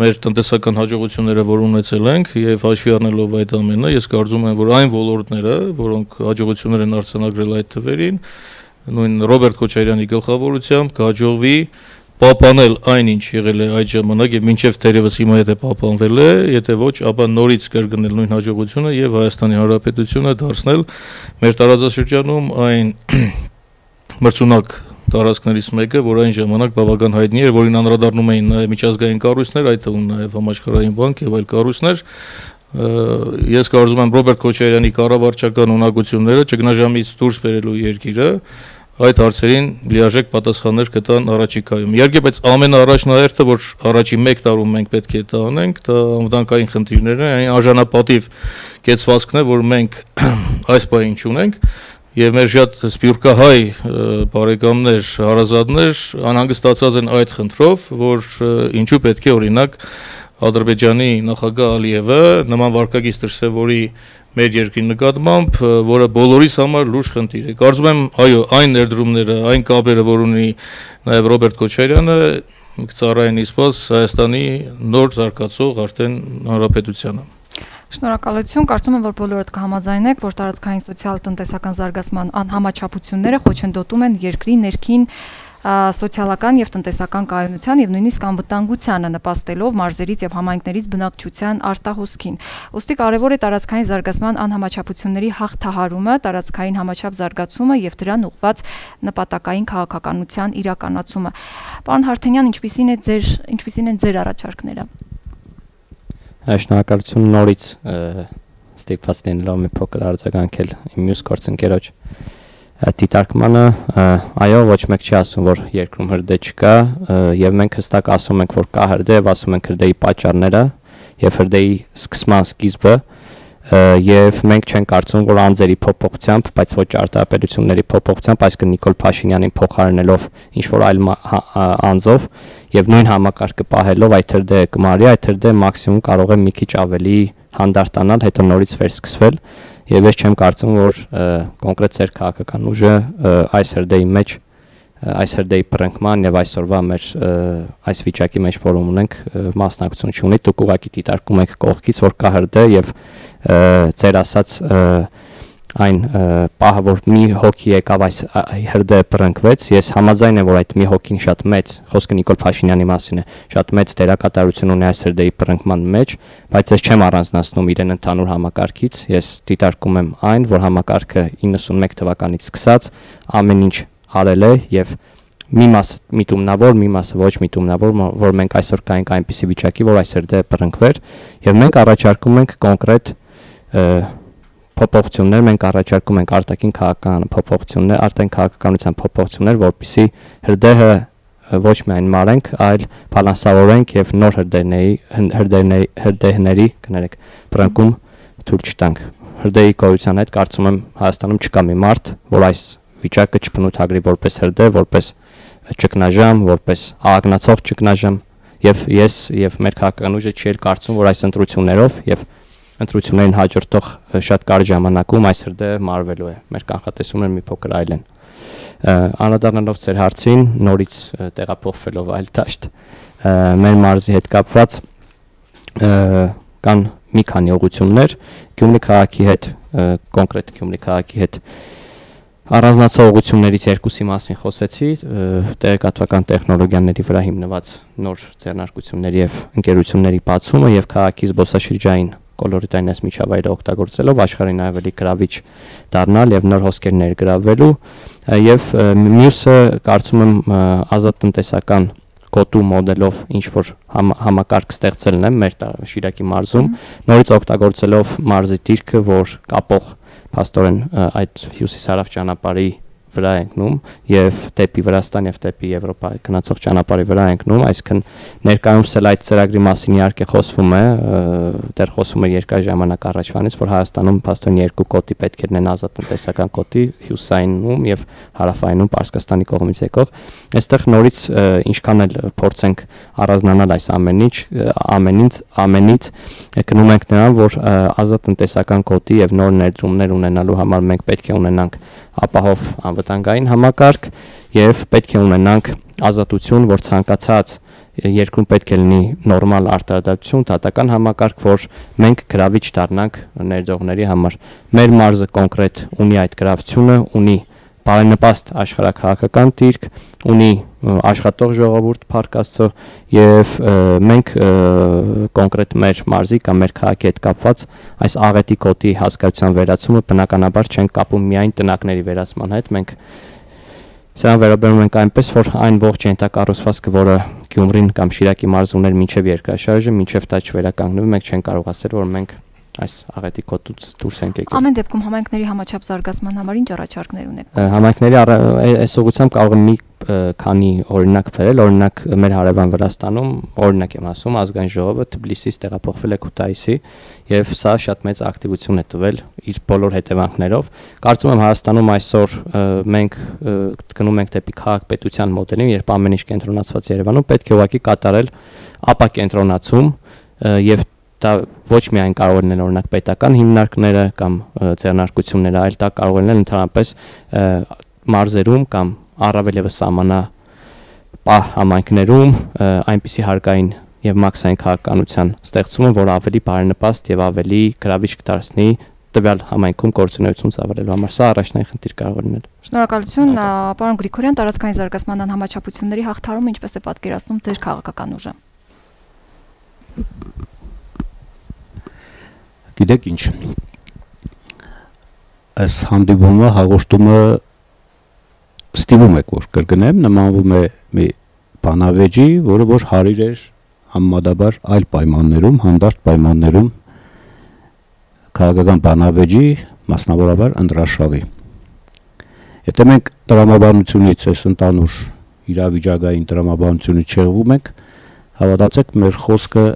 [SPEAKER 2] մեր տնտեսական հաջողությունները, որ ունեցել ենք եւ հաշվի առնելով այդ ամենը, ես կարծում եմ, որ այն ոլորտները, որոնք հաջողություններ են արձանագրել այդ թվերին, նույն Ռոբերտ Քոչարյանի գլխավորությամբ կհաջողվի պահպանել այնինչ եղել է այդ ժամանակ եւ մինչեւ թերևս հիմա եթե պահպանվել է, եթե ոչ, ապա նորից կրկնել նույն հաջողությունը եւ Հայաստանի Հանրապետությունը դարձնել մեր տարածաշրջանում այն մրցունակ տարածքներից մեկը, որ այն ժամանակ բավական հայտնի էր, որին անդրադառնում էին նաեւ միջազգային կառույցներ, այդ թվում նաեւ Համաշխարհային բանկ եւ այլ կառույցներ։ Ես կարծում եմ Ռոբերտ Քոչարյանի կառավարչական ունակությունները ճգնաժամից դուրս բերելու երկիրը այդ հարցերին լիարժեք պատասխաններ կտան առաջիկայում։ Իհարկե, բայց ամենաառաջնահերթը, որ առաջի մեկ տարում մենք պետք է դա անենք, դա անվտանգային խնդիրներն են, այն արժանապատիվ կեցվածքն է, որ մենք այս պահին չունենք, եւ մեր շատ սփյուռքահայ բարեկամներ, հարազատներ անհանգստացած են այդ խնդրով, որ ինչու պետք է օրինակ Ադրբեջանի նախագահ Ալիևը նման վարկագիծ դրսևորի մեր երկրի նկատմամբ, որը բոլորիս համար լուրջ խնդիր է։ Կարծում եմ, այո, այն ներդրումները, այն կապերը, որ ունի նաեւ Ռոբերտ Քոչարյանը, կծառայեն իսկապես Հայաստանի նոր զարգացող արդեն հանրապետությանը։
[SPEAKER 1] Շնորհակալություն, կարծում եմ, որ բոլորդ կհամաձայնեք, որ տարածքային սոցիալ-տնտեսական զարգացման անհամաչափությունները խոչընդոտում են երկրի ներքին սոցիալական եւ տնտեսական կայունության եւ նույնիսկ անվտանգությանը նպաստելով մարզերից եւ համայնքներից բնակչության արտահոսքին։ Ոստի կարեւոր է տարածքային զարգացման անհամաչափությունների հաղթահարումը, տարածքային համաչափ զարգացումը եւ դրան ուղղված նպատակային քաղաքականության իրականացումը։ Պարոն Հարթենյան, ինչպիսին է ձեր ինչպիսին են ձեր առաջարկները։
[SPEAKER 4] Շնորհակալություն նորից ստիպված լինելով մի փոքր արձագանքել իմ մյուս գործընկերոջ դիտարկմանը, այո, ոչ մեկ չի ասում, որ երկրում հրդեհ չկա, եւ մենք հստակ ասում ենք, որ կա հրդեհ, եւ ասում ենք հրդեհի պատճառները եւ հրդեհի սկսման սկիզբը, եւ մենք չենք կարծում, որ անձերի փոփոխությամբ, բայց ոչ արտահայտությունների փոփոխությամբ, այսինքն Նիկոլ Փաշինյանին փոխարինելով ինչ որ այլ անձով եւ նույն համակարգը պահելով այդ հրդեհը կմարի, այդ հրդեհը մաքսիմում կարող է մի քիչ ավելի հանդարտանալ, հետո նորից վերսկսվել։ Եվ ես չեմ կարծում, որ կոնկրետ ծեր քաղաքական ուժը այս հրդեհի մեջ, այս հրդեհի բռնկման եւ այսօրվա մեր այս վիճակի մեջ որում ունենք մասնակցություն չունի, դուք ուղղակի դիտարկում եք կողքից, որ կա հրդեհ եւ ծեր ասած այն պահը, որ մի հոգի եկավ այս հրդեհը բռնկվեց, ես համաձայն եմ, որ այդ մի հոգին շատ մեծ, խոսքը Նիկոլ Փաշինյանի մասին է, շատ մեծ դերակատարություն ունի այս հրդեհի բռնկման մեջ, բայց ես չեմ առանձնացնում իրեն ընդհանուր համակարգից, ես դիտարկում եմ այն, որ համակարգը իննսունմեկ թվականից սկսած ամեն ինչ արել է եւ մի մասը միտումնավոր, մի մասը ոչ միտումնավոր, որ մենք այսօր կայենք այնպիսի վիճակի, որ այս հրդեհը բռնկվեր եւ մենք առաջարկում ենք կոնկրետ փոփոխություններ, մենք առաջարկում ենք արտաքին քաղաքական փոփոխություններ, արտաքին քաղաքականության փոփոխություններ, որպեսզի հրդեհը ոչ միայն մարենք, այլ բալանսավորենք եւ նոր հրդեհների հրդեհների հրդեհների կներեք բռնկում թույլ չտանք։ Հրդեհի գոյության հետ կարծում եմ Հայաստանում չկա մի մարդ, որ այս վիճակը չփնութագրի որպես հրդեհ, որպես ճգնաժամ, որպես աղագնացող ճգնաժամ եւ ես եւ մեր քաղաքական ուժը չի կարծում, որ այս ընտրություններով եւ ընտրություններին հաջորդող շատ կարճ ժամանակում այս հրդեհը մարվելու է։ Մեր կանխատեսումները մի փոքր այլ են։ Անդրադառնալով ձեր հարցին, նորից տեղափոխվելով այլ դաշտ, մեր մարզի հետ կապված կան մի քանի ուղղություններ, Գյումրի քաղաքի հետ, կոնկրետ Գյումրի քաղաքի հետ առանձնացող ուղղություններից երկուսի մասին խոսեցի, տեղեկատվական տեխնոլոգիաների վրա հիմնված նոր ձեռնարկությունների եւ ընկերությունների բացումը եւ քաղաքի զբոսաշրջային կոլորիտային այս միջավայրը օգտագործելով աշխարհին ավելի գրավիչ դառնալ եւ նոր հոսքեր ներգրավելու եւ մյուսը կարծում եմ ազատ տնտեսական կոտու մոդելով ինչ որ համակարգ ստեղծելն է մեր Շիրակի մարզում, նորից օգտագործելով մարզի դիրքը, որ կապող փաստորեն այդ հյուսիսարավ ճանապարհի վրա ընկնում եւ դեպի Վրաստան եւ դեպի Եվրոպա գնացող ճանապարհի վրա ընկնում, այսինքն ներկայումս էլ այդ ծրագրի մասին իհարկե խոսվում է, դեռ խոսում է երկար ժամանակ առաջվանից, որ Հայաստանում փաստորեն երկու կոտի պետք է լինեն ազատ տնտեսական կոտի, հյուսիսայինում եւ հարավայինում Պարսկաստանի կողմից եկող։ Այստեղ նորից ինչքան էլ փորձենք առանձնանալ այս ամենից, ամենից, ամենից գնում ենք նրան, որ ազատ տնտեսական կոտի եւ նոր ներդրումներ ունենալու համար մենք պետք է ունենանք ապահով անվտանգային համակարգ եւ պետք է ունենանք ազատություն, որ ցանկացած երկրում պետք է լինի նորմալ արտադրություն, դատական համակարգ, որ մենք գրավիչ դառնանք ներդրողների համար։ Մեր մարզը կոնկրետ ունի այդ գրավությունը, ունի բարենպաստ աշխարհաքաղաքական դիրք, ունի աշխատող ժողովուրդ Փառք Աստծո եւ մենք կոնկրետ մեր մարզի կամ մեր քաղաքի հետ կապված այս աղետի կոտի հասկացության վերացումը բնականաբար չենք կապում միայն տնակների վերացման հետ, մենք սրան վերաբերում ենք այնպես, որ այն ողջ ենթակառուցվածքը, որը Գյումրին կամ Շիրակի մարզը ուներ մինչև երկրաշարժը, մինչև դա չվերականգնվի, մենք չենք կարող ասել, որ մենք այս աղետի կոտուց դուրս ենք եկել։
[SPEAKER 1] Ամեն դեպքում համայնքների համաչափ զարգացման համար ինչ առաջարկներ ունեք։
[SPEAKER 4] Համայնքների այս ուղղությամբ կարող եմ մի քանի օրինակ բերել, օրինակ մեր հարևան Վրաստանում, օրինակ եմ ասում, ազգային ժողովը Թբիլիսից տեղափոխվել է Քութայիսի եւ սա շատ մեծ ակտիվություն է տվել իր բոլոր հետևանքներով։ Կարծում եմ Հայաստանում այսօր մենք գնում ենք դեպի քաղաքպետության մոդելին, երբ ամեն ինչ կենտրոնացված Երևանում, պետք է ուղղակի կատարել ապակենտրոնացում եւ դա ոչ միայն կարող է լինել օրինակ պետական հիմնարկները կամ ձեռնարկությունները, այլ դա կարող է լինել ընդհանրապես մարզերում կամ առավել եւս սահմանապահ համայնքներում այնպիսի հարկային եւ մաքսային քաղաքականության ստեղծումը, որը ավելի բարենպաստ եւ ավելի գրավիչ կդարձնի տվյալ համայնքում գործունեություն ծավալելու համար։ Սա առաջնային խնդիր կարող է լինել։
[SPEAKER 1] Շնորհակալություն, պարոն Գրիգորյան, տարածքային զարգացման անհամաչափությունների հաղթարումը ինչպես է պատկերացնում ձեր քաղաքական ուժը։
[SPEAKER 3] Գիտեք ինչ, այս հանդիպումը հաղորդումը ստիպում եք, որ կրկնեմ, նմանվում է մի բանավեճի, որը որ հարիր էր համեմատաբար այլ պայմաններում, հանդարտ պայմաններում քաղաքական բանավեճի, մասնավորաբար ընտրարշավի։ Եթե մենք տրամաբանությունից, այս ընդանուր իրավիճակային տրամաբանությունից չեղվում ենք, հավատացեք, մեր խոսքը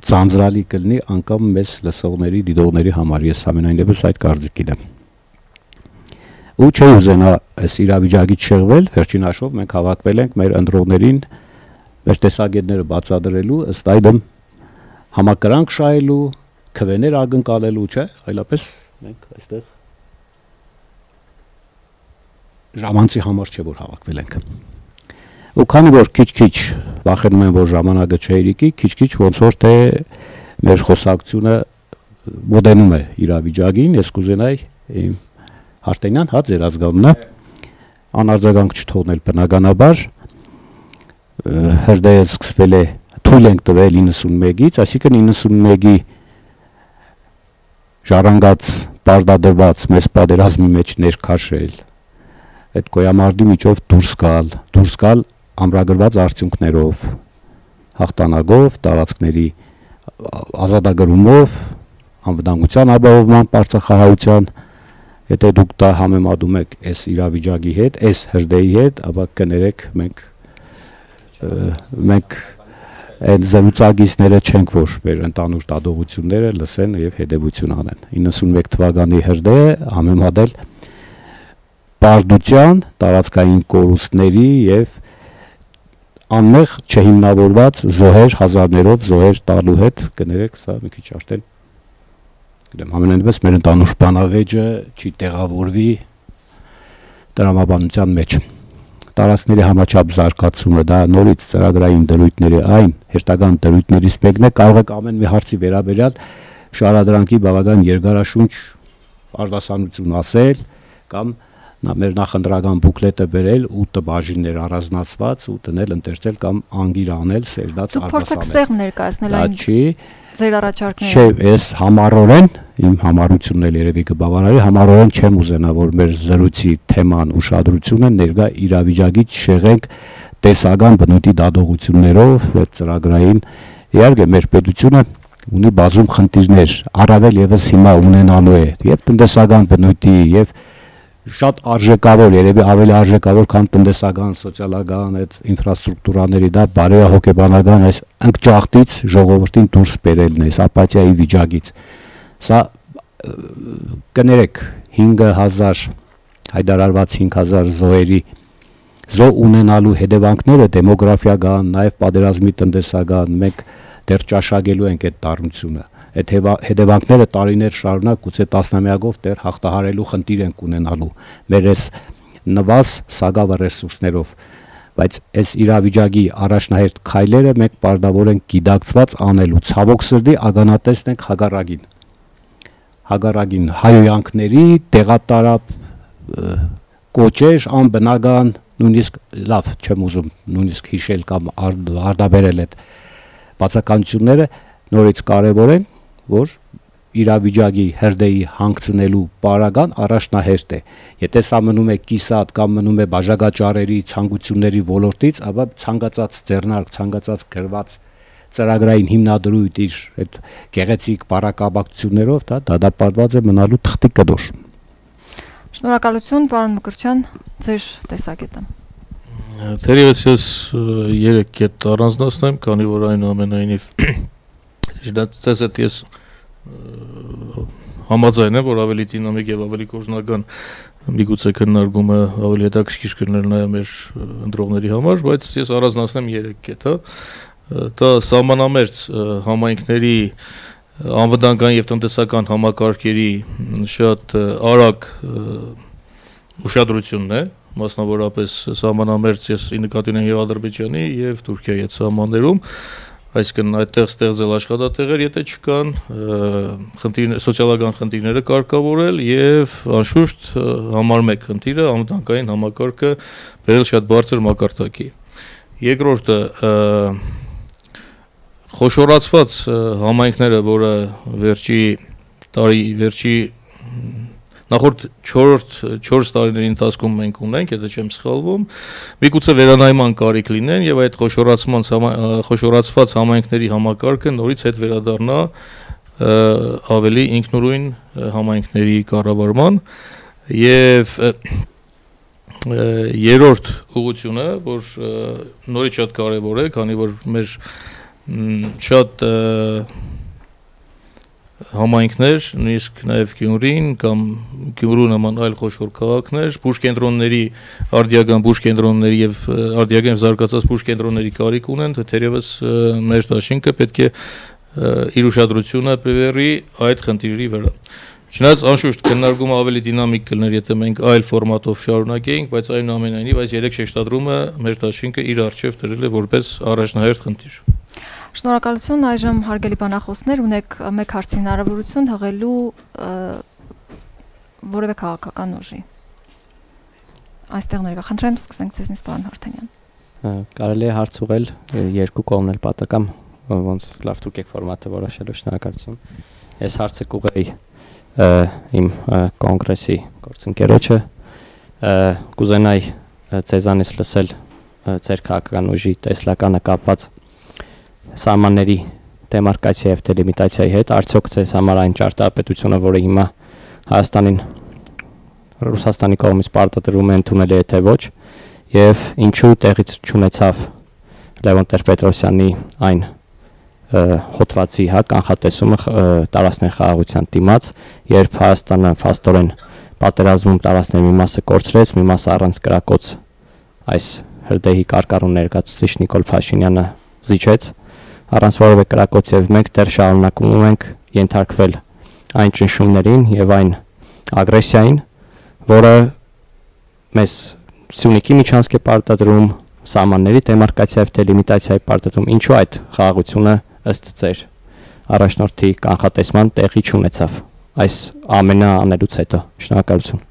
[SPEAKER 3] ձանձրալի կլինի անգամ մեզ լսողների, դիտողների համար, ես ամենայնիվս այդ կարծիքին եմ։ Ու չէ ուզենա այս իրավիճակից շեղվել, վերջին հաշվով մենք հավաքվել ենք մեր ընտրողներին մեր տեսակետները բացատրելու, ըստ այդմ համակրանք շահելու, քվեներ ակնկալելու, չէ, այլապես մենք այստեղ ժամանցի համար չէ, որ հավաքվել ենք։ Ու քանի որ քիչ-քիչ վախենում եմ, որ ժամանակը չհերիկի, քիչ-քիչ ոնց որ թե մեր խոսակցությունը մոտենում է իրավիճակին, ես կուզենայի իմ Հարտենյան, հա, ձեր ազգանունն է, անարձագանք չթողնել բնականաբար, հրդեհը սկսվել է, թույլ ենք տվել իննսունմեկից, այսինքն իննսունմեկի ժառանգած, պարտադրված մեծ պատերազմի մեջ ներքաշել, այդ գոյամարդի միջով դուրս գալ, դուրս գալ ամրագրված արդյունքներով, հաղթանակով, տարածքների ազատագրումով, անվտանգության ապահովման, բարձրախաղաղության, եթե դուք դա համեմատում եք այս իրավիճակի հետ, այս հրդեհի հետ, ապա կներեք մենք մենք այդ զրուցակիցները չենք, որ մեր ընտանուր դատողությունները լսեն եւ հետեւություն անեն։ իննսունմեկ թվականի հրդեհը համեմատել պարտության, տարածքային կորուստների եւ անմեղ չհիմնավորված զոհեր հազարներով զոհեր տալու հետ, կներեք, սա մի քիչ արդեն գիտեմ, ամենայնիվս մեր ընտանուր բանավեճը չի տեղավորվի տրամաբանության մեջ։ Տարածքների համաչափ զարգացումը, դա նորից ծրագրային դրույթների այն հերթական դրույթներից մեկն է, կարող եք ամեն մի հարցի վերաբերյալ շարադրանքի բավական երկարաշունչ արտասանություն ասել կամ մեր նախընտրական բուկլետը բերել ութ բաժիններ առանձնացված ու դնել ընթերցել կամ անգիր անել սերդած
[SPEAKER 1] արտասանել։ Դուք փորձեք սեղմ ներկայացնել այն ձեր առաջարկները։
[SPEAKER 3] Չէ, ես համառորեն, իմ համառությունն էլ երևի կբավարարի, համառորեն չեմ ուզենա, որ մեր զրույցի թեման ուշադրությունը ներկա իրավիճակից շեղենք տեսական բնույթի դատողություններով, ծրագրային։ Իհարկե մեր պետությունը ունի բազում խնդիրներ, առավել եւս հիմա ունենալու է եւ տնտեսական բնույթի եւ շատ արժեքավոր, երևի ավելի արժեքավոր, քան տնտեսական, սոցիալական այդ ինֆրաստրուկտուրաների, դա բարոյահոգեբանական այս ընկճախտից ժողովրդին դուրս բերելն է, այս ապաթիայի վիճակից։ Սա կներեք հինգ հազար հայտարարված հինգ հազար զոհերի զոհ ունենալու հետևանքները դեմոգրաֆիական, նաև պատերազմի տնտեսական, մենք դեռ ճաշակելու ենք այդ դառնությունը։ Այդ հետևանքները տարիներ շարունակ գուցե տասնամյակով դեռ հաղթահարելու խնդիր ենք ունենալու մեր այս նվազ սագավը ռեսուրսներով, բայց այս իրավիճակի առաջնահերթ քայլերը մենք պարտավոր ենք գիտակցված անելու, ցավոք սրտի ականատեսն ենք հագարագին հագարագին հայոյանքների տեղատարապ կոչեր անբնական, նույնիսկ լավ չեմ ուզում նույնիսկ հիշել կամ արդաբերել այդ բացականությունները նորից կարևոր են, որ իրավիճակի հրդեհի հանգցնելու պարագան առաջնահերթ է։ Եթե սա մնում է կիսատ կամ մնում է բաժակաճառերի ցանկությունների ոլորտից, ապա ցանկացած ձեռնարկ, ցանկացած գրված ծրագրային հիմնադրույթ իր այդ գեղեցիկ բառակապակցություններով դա դադարպարտված է մնալու թղթի կդոր։
[SPEAKER 1] Շնորհակալություն, պարոն Մկրտչյան, ձեր տեսակետը։
[SPEAKER 2] Թերևս ես երեք կետ առանձնացնեմ, քանի որ այնուամենայնիվ դες այդ ես համաձայն եմ, որ ավելի դինամիկ եւ ավելի կորզնական միգուցե քննարկումը ավելի հետաքրքիր կլիներ նաեւ մեր ընտրողների համար, բայց ես առանձնացնեմ երեք կետ, հա։ Դա սահմանամերձ համայնքների անվտանգական եւ տնտեսական համակարգերի շատ արագ ուշադրությունն է, մասնավորապես սահմանամերձ ես նկատի ունեմ եւ Ադրբեջանի եւ Թուրքիայի հետ սահմաններում, այսինքն այդտեղ ստեղծել աշխատատեղեր, եթե չկան, խնդիրներ, սոցիալական խնդիրները կարգավորել եւ անշուշտ համար մեկ խնդիրը անվտանգային համակարգը բերել շատ բարձր մակարդակի։ Երկրորդը խոշորացված համայնքները, որը վերջի տարի վերջի նախորդ չորս տարիների ընթացքում մենք ունենք, եթե չեմ սխալվում, միգուցե վերանայման կարիք լինեն եւ այդ խոշորացման խոշորացված համայնքների համակարգը նորից հետ վերադառնա ավելի ինքնուրույն համայնքների կառավարման եւ երրորդ ուղղությունը, որ նորից շատ կարեւոր է, քանի որ մեր շատ համայնքներ, նույնիսկ նաև Գյումրին կամ Գյումրու նման այլ խոշոր քաղաքներ, բուժկենտրոնների, արդիական բուժկենտրոնների եւ արդիական զարգացած բուժկենտրոնների կարիք ունեն, թերևս մեր դաշինքը պետք է իր ուշադրությունը բերի այդ խնդիրի վրա։ Չնայած անշուշտ քննարկումը ավելի դինամիկ կլիներ, եթե մենք այլ ֆորմատով շարունակեինք, բայց այնուամենայնիվ այս երեք շեշտադրումը մեր դաշինքը իր արժեվ դրել է որպես առաջնահերթ խնդիր։
[SPEAKER 1] Շնորհակալություն, այժմ հարգելի բանախոսներ, ունեք մեկ հարցի հնարավորություն հղելու որևէ քաղաքական ուժի։ Այստեղ ներկա, խնդրեմ սկսենք ձեզնից, պարոն Հարթանյան։
[SPEAKER 4] Կարելի է հարց ուղղել երկու կողմն էլ պատակամ, ոնց լավ դուք եք ֆորմատը որոշելու, շնորհակալություն։ Ես հարցը կուղղեի իմ կոնգրեսի գործընկերոջը, կուզենայի ձեզանից լսել ձեր քաղաքական ուժի տեսլականը կապված սահմանների դեմարկացիայի եւ դելիմիտացիայի հետ, արդյոք ձեզ համար այն ճարտարապետությունը, որը հիմա Հայաստանին Ռուսաստանի կողմից պարտադրվում է, ընդունել է, թե ոչ, եւ ինչու տեղից չունեցավ Լևոն Տեր-Պետրոսյանի այն հոդվածի հա կանխատեսումը տարածքների խաղաղության դիմաց, երբ Հայաստանը փաստորեն պատերազմում տարածքների մի մասը կորցրեց, մի մասը առանց կրակոց այս հրդեհի կարկառուն ներկայացուցիչ Նիկոլ Փաշինյանը զիջեց առանց որևէ կրակոց եւ մենք դեռ շարունակում ենք ենթարկվել այն ճնշումներին եւ այն ագրեսիային, որը մեզ Սյունիքի միջանցք է պարտադրում, սահմանների դեմարկացիա եւ դելիմիտացիայի պարտադրում, ինչու այդ խաղաղությունը ըստ ձեր առաջնորդի կանխատեսման տեղի չունեցավ այս ամենը անելուց հետո։ Շնորհակալություն։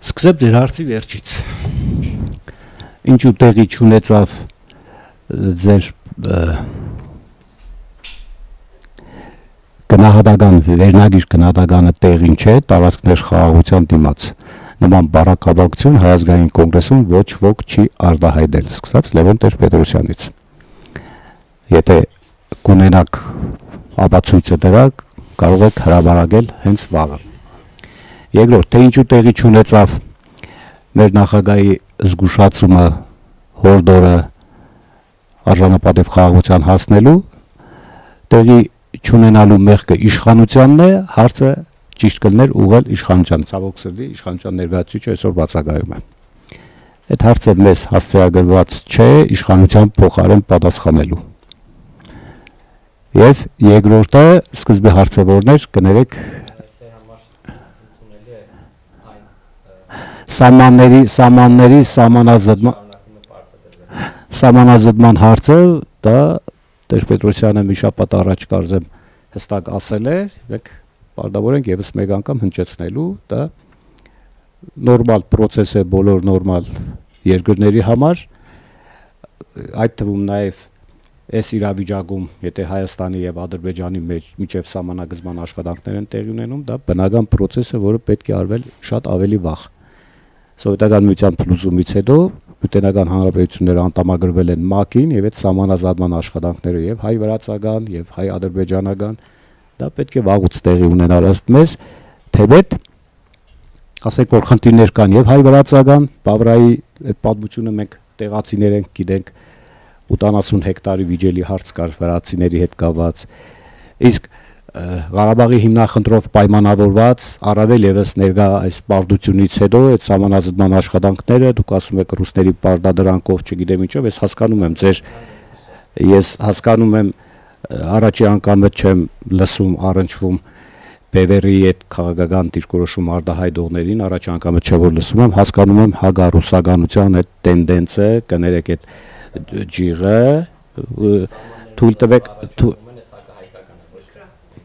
[SPEAKER 3] Սկսեմ ձեր հարցի վերջից։ Ինչու տեղի չունեցավ ձեր գնահատական վերնագիր գնահատականը տեղին չէ տարածքներ խաղաղության դիմաց։ Նման բառակապակցություն Հայազգային կոնգրեսում ոչ ոք չի արտահայտել, սկսած Լևոն Տեր-Պետրոսյանից։ Եթե կունենաք ապացույցը դրա, կարող եք հրապարակել հենց վաղը։ Երկրորդ, թե ինչու տեղի չունեցավ մեր նախագահի զգուշացումը հորդորը արժանապատիվ խաղաղության հասնելու, տեղի չունենալու մեղքը իշխանությանն է, հարցը ճիշտ կլներ ուղղել իշխանության, ցավոք սրտի իշխանության ներկայացուցիչը այսօր բացակայում է։ Այդ հարցը մեզ հասցեագրված չէ իշխանության փոխարեն պատասխանելու։ Եվ երկրորդը սկզբի հարցը որն էր, կներեք սահմանների սահմանների սահմանազատման սահմանազատման հարցը դա Տեր-Պետրոսյանը մի շաբաթ առաջ կարծեմ հստակ ասել է, եք պարտավոր ենք եւս մեկ անգամ հնչեցնելու, դա նորմալ process է բոլոր նորմալ երկրների համար, այդ թվում նաեւ այս իրավիճակում, եթե Հայաստանի եւ Ադրբեջանի միջև սահմանագծման աշխատանքներ են տեղի ունենում, դա բնական process է, որը պետք է արվել շատ ավելի վաղ։ Սովետական միության փլուզումից հետո Բյութենական հանրապետությունները անդամագրվել են ՄԱԿ-ին եւ այդ սահմանազատման աշխատանքները եւ հայ-վրացական եւ հայ-ադրբեջանական դա պետք է վաղուց տեղի ունենալ ըստ մեզ, թեպետ ասենք որ խնդիրներ կան եւ հայ-վրացական, Բավրայի այդ պատմությունը մենք տեղացիներ ենք, գիտենք ութանասուն հեկտարի վիճելի հարց կար վրացիների հետ կապված, իսկ Ղարաբաղի հիմնախնդրով պայմանավորված առավել եւս ներկա այս պարտությունից հետո այդ սահմանազատման աշխատանքները դուք ասում եք ռուսների պարտադրանքով չգիտեմ ինչով, ես հասկանում եմ ձեր ես հասկանում եմ առաջի անգամ չեմ լսում առնչվում Բևերի այդ քաղաքական դիրքորոշում արտահայտողներին, առաջի անգամ չէ որ լսում եմ, հասկանում եմ հագարուսականության այդ տենդենսը, կներեք այդ ջիղը թույլ տվեք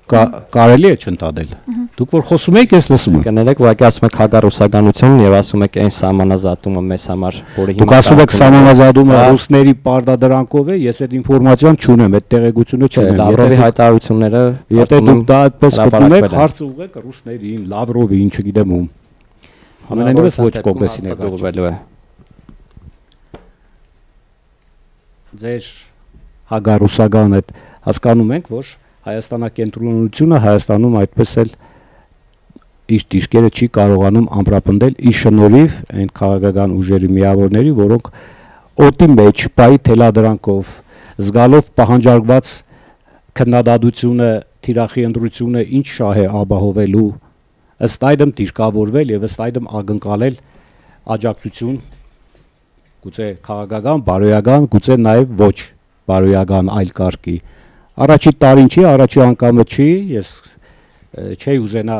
[SPEAKER 3] կարելի է չընդադել։ Դուք որ խոսում եք, ես լսում եմ։
[SPEAKER 4] Կներեք, ուղղակի ասում եք հագարուսականություն եւ ասում եք այն սահմանազատումը մեզ համար, որը հիմա
[SPEAKER 3] դուք ասում եք սահմանազատումը ռուսների պարտադրանքով է, ես այդ ինֆորմացիան չունեմ, այդ տեղեկությունը չունեմ։
[SPEAKER 4] Լավրովի հայտարարությունները,
[SPEAKER 3] եթե դուք դա այդպես գտնում եք, հարցը ուղղեք ռուսներին, Լավրովին, չգիտեմ ում։ Ամենայնիվս ոչ կոնգրեսի ներկայացվելու է։ Ձեր հագարուսական այդ հասկանում ենք, որ Հայաստանակենտրոնությունը Հայաստանում այդպես էլ իր դիրքերը չի կարողանում ամրապնդել ի շնորհիվ այն քաղաքական ուժերի միավորների, որոնք օդի մեջ պայի թելադրանքով զգալով պահանջարկված քննադատությունը, թիրախի ընտրությունը ինչ շահ է ապահովելու, ըստ այդմ դիրքավորվել եւ ըստ այդմ ակնկալել աջակցություն, գուցե քաղաքական, բարոյական, գուցե նաեւ ոչ բարոյական այլ կարգի։ Առաջի տարին չի, առաջի անգամը չի, ես չի ուզենա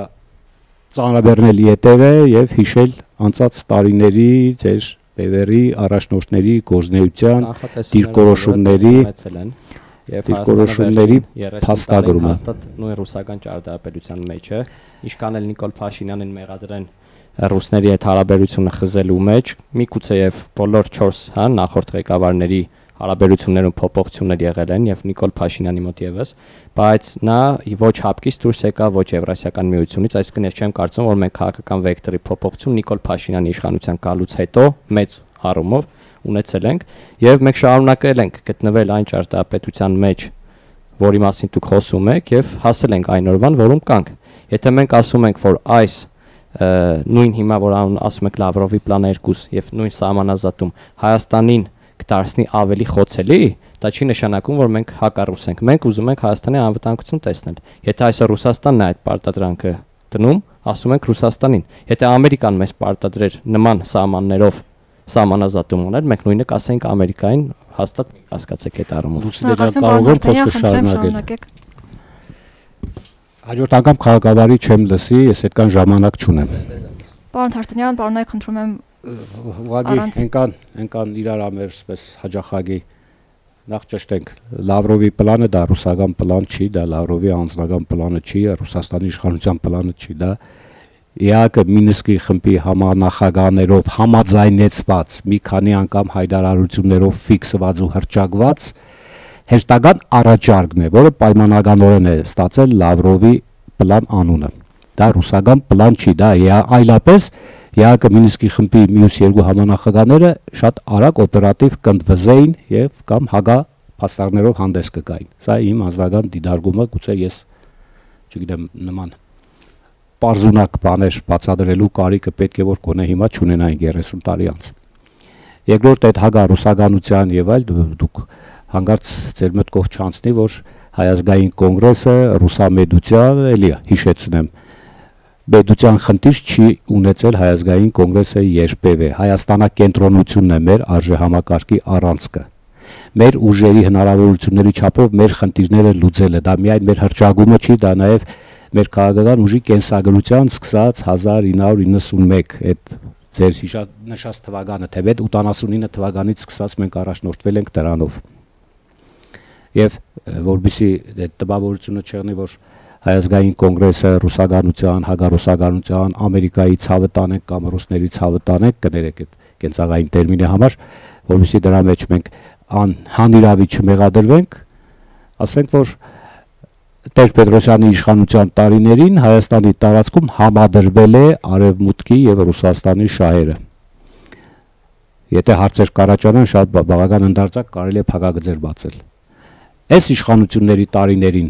[SPEAKER 3] ծանրաբեռնել ետևը եւ հիշել անցած տարիների ձեր Բևերի առաջնորդների գործնեության դիրքորոշումների եւ դիրքորոշումների փաստագրումը
[SPEAKER 4] հաստատ նույն ռուսական ճարտարապետության մեջ է, ինչքան էլ Նիկոլ Փաշինյանին մեղադրեն ռուսների հետ հարաբերությունը խզելու մեջ, միգուցե եւ բոլոր չորս, հա, նախորդ ղեկավարների հարաբերություններում փոփոխություններ եղել են եւ Նիկոլ Փաշինյանի մոտ եւս, բայց նա ոչ հապկից դուրս եկավ, ոչ Եվրասիական միությունից, այսինքն ես չեմ կարծում, որ մենք քաղաքական վեկտորի փոփոխություն Նիկոլ Փաշինյանի իշխանության գալուց հետո մեծ առումով ունեցել ենք եւ մենք շարունակել ենք գտնվել այն ճարտարապետության մեջ, որի մասին դուք խոսում եք եւ հասել ենք այն օրվան, որում կանք։ Եթե մենք ասում ենք, որ այս նույն հիմա որ ասում եք Լավրովի պլան երկու եւ նույն սահմանազատում Հայաստանին կդարձնի ավելի խոցելի, դա չի նշանակում, որ մենք հակառուս ենք։ Մենք ուզում ենք Հայաստանի անվտանգություն տեսնել։ Եթե այսօր Ռուսաստանն է այդ պարտադրանքը դնում, ասում ենք Ռուսաստանին։ Եթե Ամերիկան մեզ պարտադրեր նման սահմաններով սահմանազատում ուներ, մենք նույնը կասենք Ամերիկային, հաստատ հասկացեք այդ առումով։
[SPEAKER 3] Կարող եմ խոսքը շարունակել։ Հաջորդ անգամ քաղաքավարի չեմ լսի, ես այդքան ժամանակ չունեմ։
[SPEAKER 1] Պարոն Թարթանյան, պարոնայք խնդրում եմ
[SPEAKER 3] ուղղակի այնքան այնքան իրար ամեր սպես հաջախագի նախ ճշտենք Լավրովի պլանը դա ռուսական պլան չի, դա Լավրովի անձնական պլանը չի, Ռուսաստանի իշխանության պլանը չի, դա ԵԱԿ-ը Մինսկի խմբի համանախագահներով համաձայնեցված մի քանի անգամ հայտարարություններով ֆիքսված ու հրճակված հերթական առաջարկն է, որը պայմանականորեն է ստացել Լավրովի պլան անունը։ Դա ռուսական պլան չի, դա այլապես ԵԱԿ-ը Մինսկի խմբի մյուս երկու համանախագահները շատ արագ օպերատիվ կընդվզեին եւ կամ հագա փաստարկներով հանդես կգային։ Սա իմ անձնական դիտարկումը, գուցե ես չգիտեմ նման պարզունակ բաներ բացատրելու կարիքը պետք է որ գոնե հիմա չունենային երեսուն տարի անց։ Երկրորդ այդ հագա ռուսականության եւ այլ դուք հանգարց ձեր մտքով չանցնի, որ Հայազգային կոնգրեսը ռուսամեդության էլի հիշեցնեմ Բեդության խնդիր չի ունեցել Հայազգային կոնգրեսը երբևէ։ Հայաստանակենտրոնությունն է մեր արժեհամակարգի առանցքը։ Մեր ուժերի հնարավորությունների չափով մեր խնդիրները լուծելը, դա միայն մեր հրճագումը չի, դա նաև մեր քաղաքական ուժի կենսագրության սկսած հազար ինը հարյուր իննսունմեկ այդ ձեր նշած թվականը, թեպետ ութանասունինը թվականից սկսած մենք առաջնորդվել ենք դրանով։ Եվ որբիսի այդ տպավորությունը չեղնի, որ Հայազգային կոնգրեսը ռուսականության, հագարուսականության, Ամերիկայի ցավը տանենք կամ ռուսների ցավը տանենք, կներեք այդ կենցաղային տերմինի համար, որովհետեւ դրա մեջ մենք հանիրավի չմեղադրվենք, ասենք որ Տեր Պետրոսյանի իշխանության տարիներին Հայաստանի տարածքում համադրվել է Արևմուտքի եւ Ռուսաստանի շահերը։ Եթե հարցեր կառաջանան, շատ բավական ընդարձակ կարելի է փակագծեր բացել։ Այս իշխանությունների տարիներին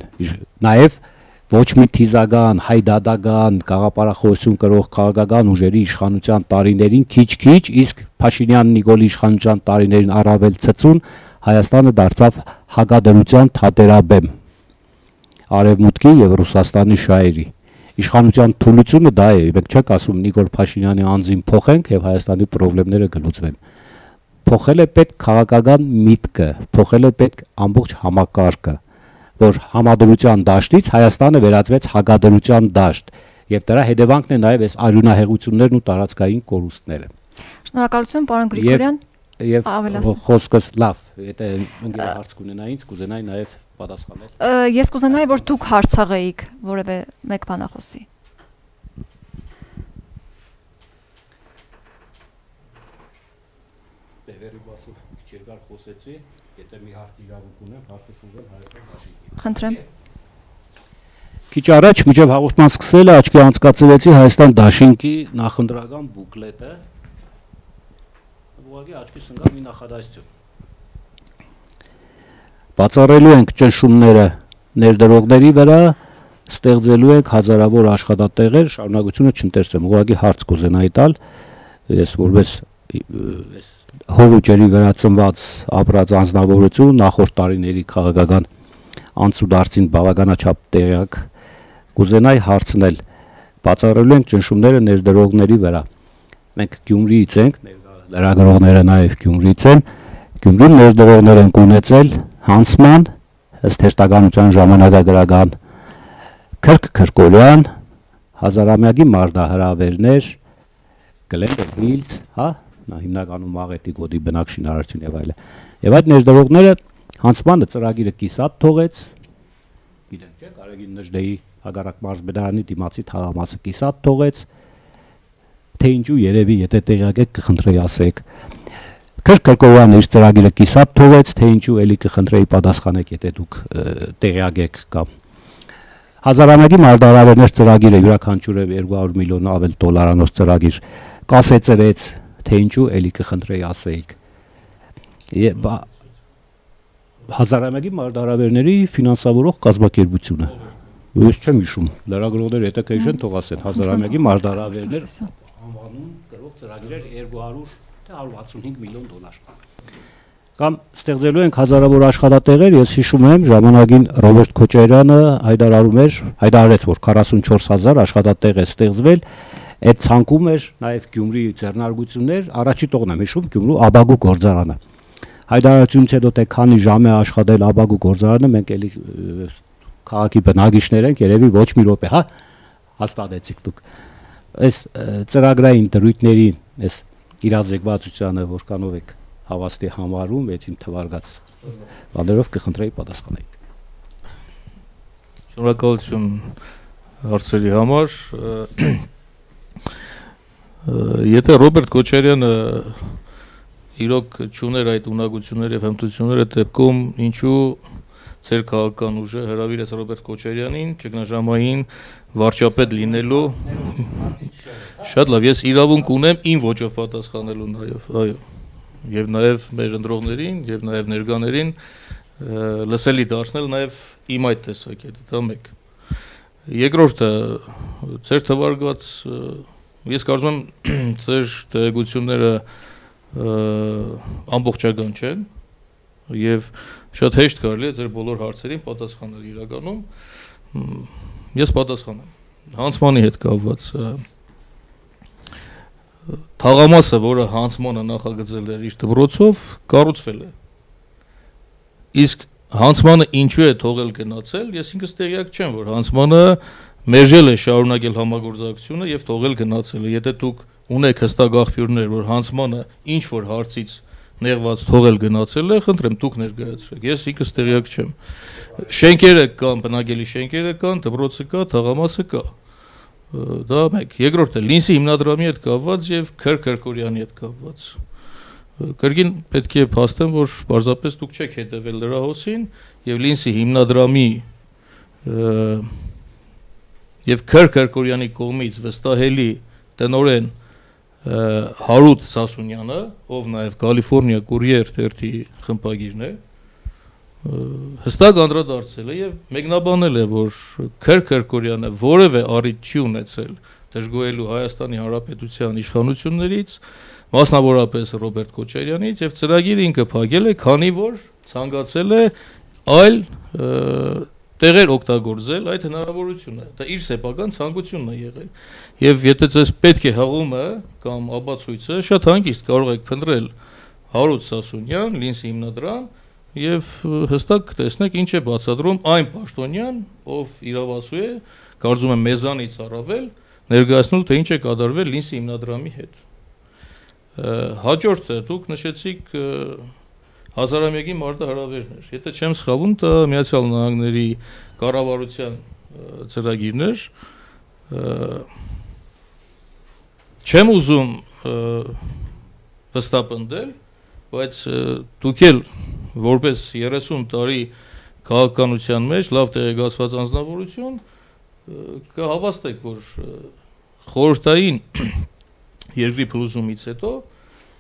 [SPEAKER 3] նաև ոչ մի թիզական, հայդադական, գաղափարախոսություն կրող քաղաքական ուժերի իշխանության տարիներին քիչ-քիչ, իսկ Փաշինյան Նիկոլի իշխանության տարիներին առավել ցծուն Հայաստանը դարձավ հակադրության թատերաբեմ Արևմուտքի եւ Ռուսաստանի շահերի։ Իշխանության թուլությունը դա է, մենք չենք ասում Նիկոլ Փաշինյանի անձին փոխենք եւ Հայաստանի խնդիրները կլուծվեն։ Փոխել է պետք քաղաքական միտքը, փոխել է պետք ամբողջ համակարգը, որ համադրության դաշտից Հայաստանը վերածվեց հակադրության դաշտ եւ դրա հետևանքն է նաեւ այս արյունահեղություններն ու տարածքային կորուստները։
[SPEAKER 1] Շնորհակալություն, պարոն Գրիգորյան։
[SPEAKER 3] Եվ խոսքս լավ, եթե ընկերը հարց կունենա ինձ, կուզենայի նաեւ պատասխանել։
[SPEAKER 1] Ես կուզենայի, որ դուք հարցաղեիք որևէ մեկ բանախոսի։
[SPEAKER 3] Բևերի բասով երկար խոսեցի, եթե մի հարց իրավունք ունեմ, հարցը կուզեմ Հայաստան դաշինքի։
[SPEAKER 1] Խնդրեմ։
[SPEAKER 3] Քիչ առաջ միջև հաղորդման սկսելը աչքի անցկացրեցի Հայաստան դաշինքի նախընտրական բուկլետը։ Ուղղակի աչքիս ընկավ մի նախադասություն։ Բացառելու ենք ճնշումները ներդրողների վրա, ստեղծելու ենք հազարավոր աշխատատեղեր, շարունակությունը չընտեսեմ, ուղղակի հարց կուզենայի տալ, ես որպես այս հողուճերի վրա ծնված ապրած անձնավորություն, նախորդ տարիների քաղաքական անցուդարձին բավականաչափ տեղյակ, կուզենայի հարցնել, բացառելու ենք ճնշումները ներդրողների վրա։ Մենք Գյումրիից ենք, լրագրողները նաև Գյումրիից են, Գյումրիում ներդրողներ են ունեցել Հանսման, ըստ հեշտականության ժամանակագրական, Քրկ Քրկորյան, հազարամյակի մարտահրավերներ, Գլենդեր Հիլզ, հա, նա հիմնականում Մաղետի գոտի բնակչին եւ այլն։ Եվ այդ ներդրողները Հանսմանը ծրագիրը կիսատ թողեց, գիտենք չէ, Կարագին Նժդեի հագարակ մարզբեդարանի դիմացի թաղամասը կիսատ թողեց, թե ինչու երևի եթե տեղյակ եք կխնդրեի ասեք։ Քրկ Քրկորյանը իր ծրագիրը կիսատ թողեց, թե ինչու էլի կխնդրեի պատասխանեք, եթե դուք տեղյակ եք կամ հազարամյակի մարտահրավերներ ծրագիրը յուրաքանչյուրը երկու հարյուր միլիոն ավել դոլարանոց ծրագիր կասեցրեց, թե ինչու էլի կխնդրեի ասեիք։ Հազարամյակի մարտահրավերների ֆինանսավորող կազմակերպությունը։ Ես չեմ հիշում, լրագրողները եթե կհիշեն թող ասեն, հազարամյակի մարտահրավերներ անվանում գրող ծրագիրեր երկու հարյուր թե հարյուր վաթսունհինգ միլիոն դոլար։ Կամ ստեղծելու ենք հազարավոր աշխատատեղեր, ես հիշում եմ ժամանակին Ռոբերտ Քոչարյանը հայտարարում էր, հայտարարեց, որ քառասունչորս հազար աշխատատեղ է ստեղծվել, այդ ցանկում էր նաև Գյումրի ձեռնարկություններ, առաջի տողն եմ հիշում Գյումրու Աբագու գործարանը։ Հայտարարությունից հետո թե քանի ժամ է աշխատել Աբագու գործարանը, մենք էլի քաղաքի բնակիչներ ենք, երևի ոչ մի րոպե, հա, հաստատեցիք դուք։ Այս ծրագրային դրույթների, այս իրազեկվածությանը որքանով եք հավաստի համարում, այդ իմ թվարկած բաներով կխնդրեի պատասխանեիք։
[SPEAKER 2] Շնորհակալություն հարցերի համար։ Եթե Ռոբերտ Քոչարյանը իրոք չուներ այդ ունակությունները եւ հմտությունները, դեպքում ինչու ծեր քաղաքական ուժը հրավիրեց Ռոբերտ Քոչարյանին ճգնաժամային վարչապետ լինելու։ Շատ լավ, ես իրավունք ունեմ իմ ոճով պատասխանելու նաեւ, այո, եւ նաեւ մեր ընտրողներին եւ նաեւ ներկաներին լսելի դարձնել նաեւ իմ այդ տեսակետը, դա մեկ։ Երկրորդը, ծեր թվարկված, ես կարծում եմ ծեր տեղեկությունները ամբողջական չեն եւ շատ հեշտ կարելի է ձեր բոլոր հարցերին պատասխանել իրականում։ Ես պատասխանեմ։ Հանսմանի հետ կապված թաղամասը, որը Հանսմանը նախագծել էր իր դպրոցով, կառուցվել է։ Իսկ Հանսմանը ինչու է թողել գնացել, ես ինքս տեղյակ չեմ, որ Հանսմանը մերժել է շարունակել համագործակցությունը եւ թողել գնացել է։ Եթե դուք ունեք հստակ աղբյուրներ, որ Հանսմանը ինչ որ հարցից նեղված թողել գնացել է, խնդրեմ դուք ներկայացրեք։ Ես ինքս տեղյակ չեմ։ Շենքերը կան, բնակելի շենքերը կան, դպրոցը կա, թաղամասը կա։ Դա մեկ։ Երկրորդը Լինսի հիմնադրամի հետ կապված եւ Քրկ Քրկորյանի հետ կապված։ Կրկին պետք է փաստեմ, որ պարզապես դուք չեք հետևել լրահոսին եւ Լինսի հիմնադրամի եւ Քրկ Քրկորյանի կողմից վստահելի տնօրեն Հարութ Սասունյանը, ով նաև Կալիֆոռնիա կուրիեր թերթի խմբագիրն է, հստակ անդրադարձել է եւ մեկնաբանել է, որ Քրքրկորյանը որևէ առիթ չի ունեցել դժգոհելու Հայաստանի Հանրապետության իշխանություններից, մասնավորապես Ռոբերտ Քոչարյանից եւ ծրագիրը ինքը փակել է, քանի որ ցանկացել է այլ տեղեր օգտագործել այդ հնարավորությունը։ Դա իր սեփական ցանկությունն է եղել։ Եվ եթե ձեզ պետք է հղումը կամ ապացույցը, շատ հանգիստ կարող եք փնտրել Հարութ Սասունյան, Լինսի հիմնադրամ եւ հստակ տեսնեք ինչ է բացատրում այն պաշտոնյան, ով իրավասու է, կարծում եմ մեզանից առավել, ներկայացնելու թե ինչ է կատարվել Լինսի հիմնադրամի հետ։ Հաջորդը դուք նշեցիք հազարամյակի մարտահրավերներ։ Եթե չեմ սխալվում, դա Միացյալ Նահանգների կառավարության ծրագիրն էր։ Չեմ ուզում վստահել, բայց դուք էլ որպես երեսուն տարի քաղաքականության մեջ լավ տեղեկացված անձնավորություն կհավաստեք, որ խորհրդային երկրի փլուզումից հետո